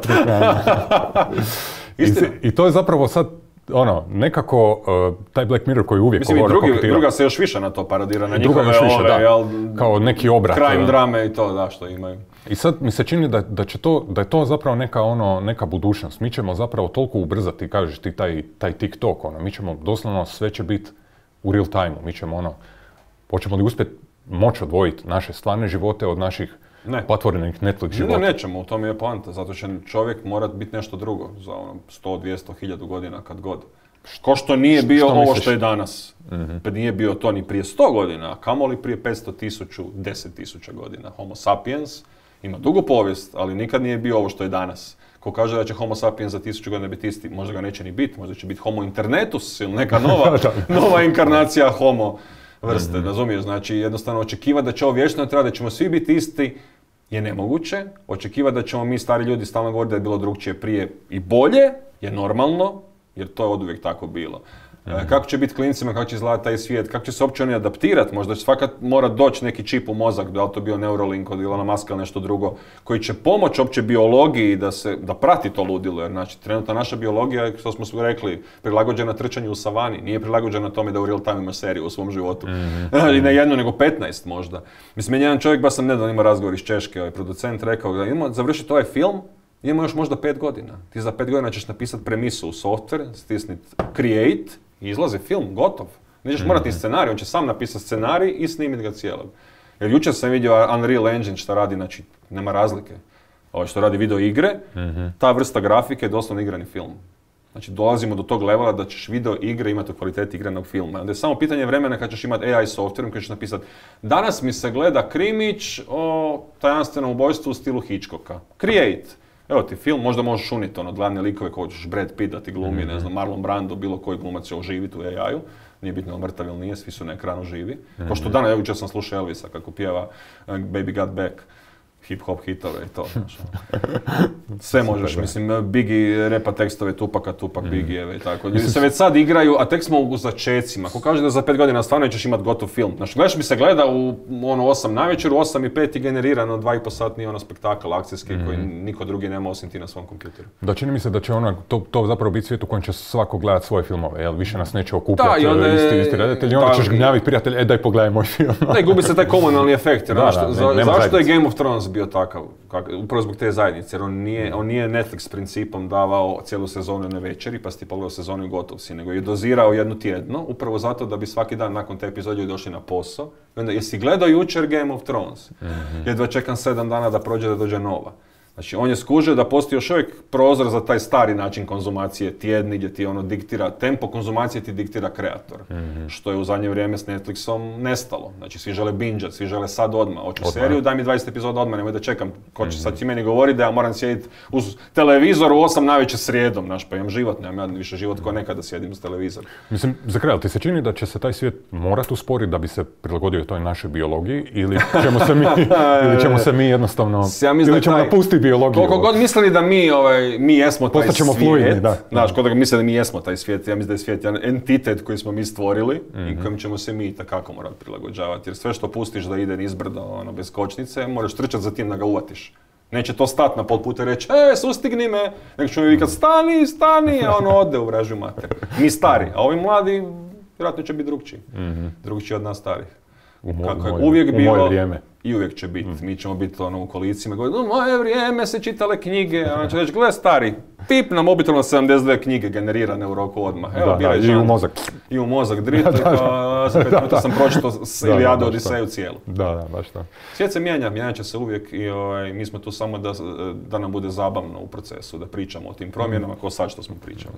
I, I to je zapravo sad, ono, nekako uh, taj Black Mirror koji uvijek mislim, govore, drugi, kopitira. Druga se još više na to parodira, na njihove još više, ove, da, jel, kao neki obrat. Crime drame i to, da, što imaju. I sad mi se čini da, da, će to, da je to zapravo neka, ono, neka budućnost. Mi ćemo zapravo toliko ubrzati, kažeš ti, taj, taj TikTok, ono, mi ćemo doslovno sve će biti u real time-u. Mi ćemo, ono, hoćemo li uspjeti moći odvojiti naše stvarne živote od naših ne. platvornih Netflix života. Ne, nećemo, u tom je poanta, zato će čovjek morat biti nešto drugo za ono sto, dvjesto, hiljadu godina kad god. Ko što nije bio što ovo misliš? Što je danas. Mm-hmm. Pa nije bio to ni prije sto godina, a kamoli prije petsto, tisuću, deset tisuća godina. Homo sapiens ima dugu povijest, ali nikad nije bio ovo što je danas. Ko kaže da će Homo sapiens za tisuću godina biti isti, možda ga neće ni biti, možda će biti Homo internetus ili neka nova, nova inkarnacija Homo vrste, mm-hmm. razumiješ? Znači, jednostavno očekivati da će ovo vječno trajati, da ćemo svi biti isti je nemoguće. Očekivati da ćemo mi stari ljudi stalno govoriti da je bilo drugčije prije i bolje je normalno, jer to je oduvijek tako bilo. Mm-hmm. Kako će biti klincima, kako će izgledati taj svijet, kako će se uopće oni adaptirati, možda će svakat mora doći neki čip u mozak, da li to bio Neuralink od Ilona Muska ili nešto drugo, koji će pomoći uopće biologiji da se, da prati to ludilo, jer znači trenutno naša biologija, što smo rekli, prilagođena trčanju u savani, nije prilagođena tome da u real time imaš seriju u svom životu. Mm-hmm. I ne jednu, nego petnaest možda. Mislim, jedan čovjek, baš sam nedavno imao razgovor iz Češke, ovaj producent rekao da ima završiti ovaj film, imamo još možda pet godina. Ti za pet godina ćeš napisati premisu u software, stisniti create i izlazi film, gotov. Nećeš mm-hmm. morati scenarij, on će sam napisati scenarij i snimiti ga cijelog. Jer jučer sam vidio Unreal Engine što radi, znači nema razlike. Ovo što radi video igre, mm-hmm. ta vrsta grafike je doslovno igrani film. Znači dolazimo do tog levela da ćeš video igre imati u kvaliteti igranog filma. Onda je samo pitanje vremena kad ćeš imati A I software koji ćeš napisati danas mi se gleda krimić o tajanstvenom ubojstvu u stilu Hitchcocka. Create. Evo ti film, možda možeš uniti ono, glavne likove koji ćeš Brad Pitt da ti glumi, mm-hmm. ne znam, Marlon Brando, bilo koji glumac će oživiti u A I-u. Nije bitno ili mrtav ili nije, svi su na ekranu živi. Mm-hmm. Ko što danas, evo jučer sam slušao Elvisa kako pjeva uh, Baby Got Back. Hip-hop hitove i to, znaš. Sve možeš, mislim, Biggie repa tekstove Tupaka, Tupak, mm. Biggieve i tako. Ljudi se već sad igraju, a tek smo u začecima. Ako kaže da za pet godina stvarno ćeš imati gotov film. Znači, gledaš mi se gleda u ono osam navečer, u osam i pet i generirano dva i po satni ono spektakl akcijski mm. koji niko drugi nema osim ti na svom kompjuteru. Da, čini mi se da će ona, to, to zapravo biti svijet u kojem će svako gledati svoje filmove, jel? Više nas neće okupljati isti, isti redatelji, onda ćeš gnjaviti prijatelj, e daj pogledaj moj film. Ne, gubi se taj komunalni efekt, jer da, da, za, ne, zašto je Game of Thrones bio takav? Kak, upravo zbog te zajednice, jer on nije, on nije Netflix principom davao cijelu sezonu na večeri, pa si ti pogledao sezonu i gotov si, nego je dozirao jednu tjedno, upravo zato da bi svaki dan nakon te epizode došli na posao. I onda, jesi gledao jučer Game of Thrones? Mm-hmm. Jedva čekam sedam dana da prođe da dođe nova. Znači, on je skužio da postoji još uvijek prozor za taj stari način konzumacije, tjedni, gdje ti ono diktira, tempo konzumacije ti diktira kreator. Mm-hmm. Što je u zadnje vrijeme s Netflixom nestalo. Znači, svi žele bingeat, svi žele sad odmah. Hoću odmah. Seriju, daj mi dvadeset epizoda odmah, nemoj da čekam. Ko će mm-hmm. sad ti meni govori da ja moram sjediti uz televizor u osam navečer srijedom, znaš, pa imam život, nemam ja više život ko nekada sjedim uz televizor. Mislim, za kraj, ti se čini da će se taj svijet morati usporiti da bi se prilagodio toj našoj biologiji ili ćemo se mi, ili ćemo se mi jednostavno, ja ili ćemo napustiti biologiju? Koliko god mislili da mi, ovaj, mi jesmo taj Postaćemo svijet, fluidni, da. Znaš, koliko misle da mi jesmo taj svijet, ja mislim da je svijet jedan entitet koji smo mi stvorili mm-hmm. i kojim ćemo se mi takako morati prilagođavati. Jer sve što pustiš da ide nizbrdo, ono, bez kočnice, moraš trčati za tim da ga uvatiš. Neće to stati na pol puta i reći, e, sustigni me, nego ćemo mi vikati, stani, stani, a ono ode u vražju mater. Mi stari, a ovi mladi, vjerojatno će biti drugčiji. Mm-hmm. Drugčiji od nas starih. U mo- Kako je moje, uvijek u bilo, moje vrijeme. I uvijek će biti. Mm. Mi ćemo biti ono u kolicima, govoriti, u moje vrijeme se čitale knjige, a on će reći, gle stari, pip na mobitelno sedamdeset dvije knjige generirane u roku odmah. Evo, da, da, i u mozak. I u mozak, drit, pa za pet minuta sam pročitao Ilijadu, Odiseju cijelu. Da, da, baš to. Svijet se mijenja, mijenja će se uvijek i ovaj, mi smo tu samo da, da nam bude zabavno u procesu, da pričamo o tim promjenama, mm. ko sad što smo pričali.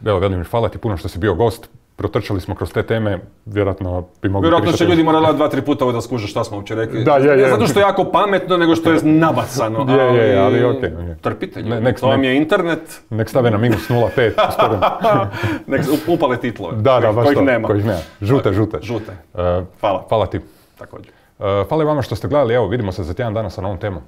Ja. Evo, Velimir, hvala ti puno što si bio gost. Protrčali smo kroz te teme, vjerojatno bi mogli Vjerojatno će ljudi morati dva, tri puta da skuže šta smo uopće rekli. Da, je, je. Ne zato što je jako pametno, nego što je nabacano. Je, ali, je, ali okej. Okay, okay. Trpite ljudi, ne, to vam je internet. Nek stave na minus nula pet. Nek upale titlove, da, da, kojih to, nema. Kojih nema. Žute, žute. Žute. Uh, hvala. Hvala ti. Također. Uh, hvala i vama što ste gledali, evo vidimo se za tjedan dana sa novom temom.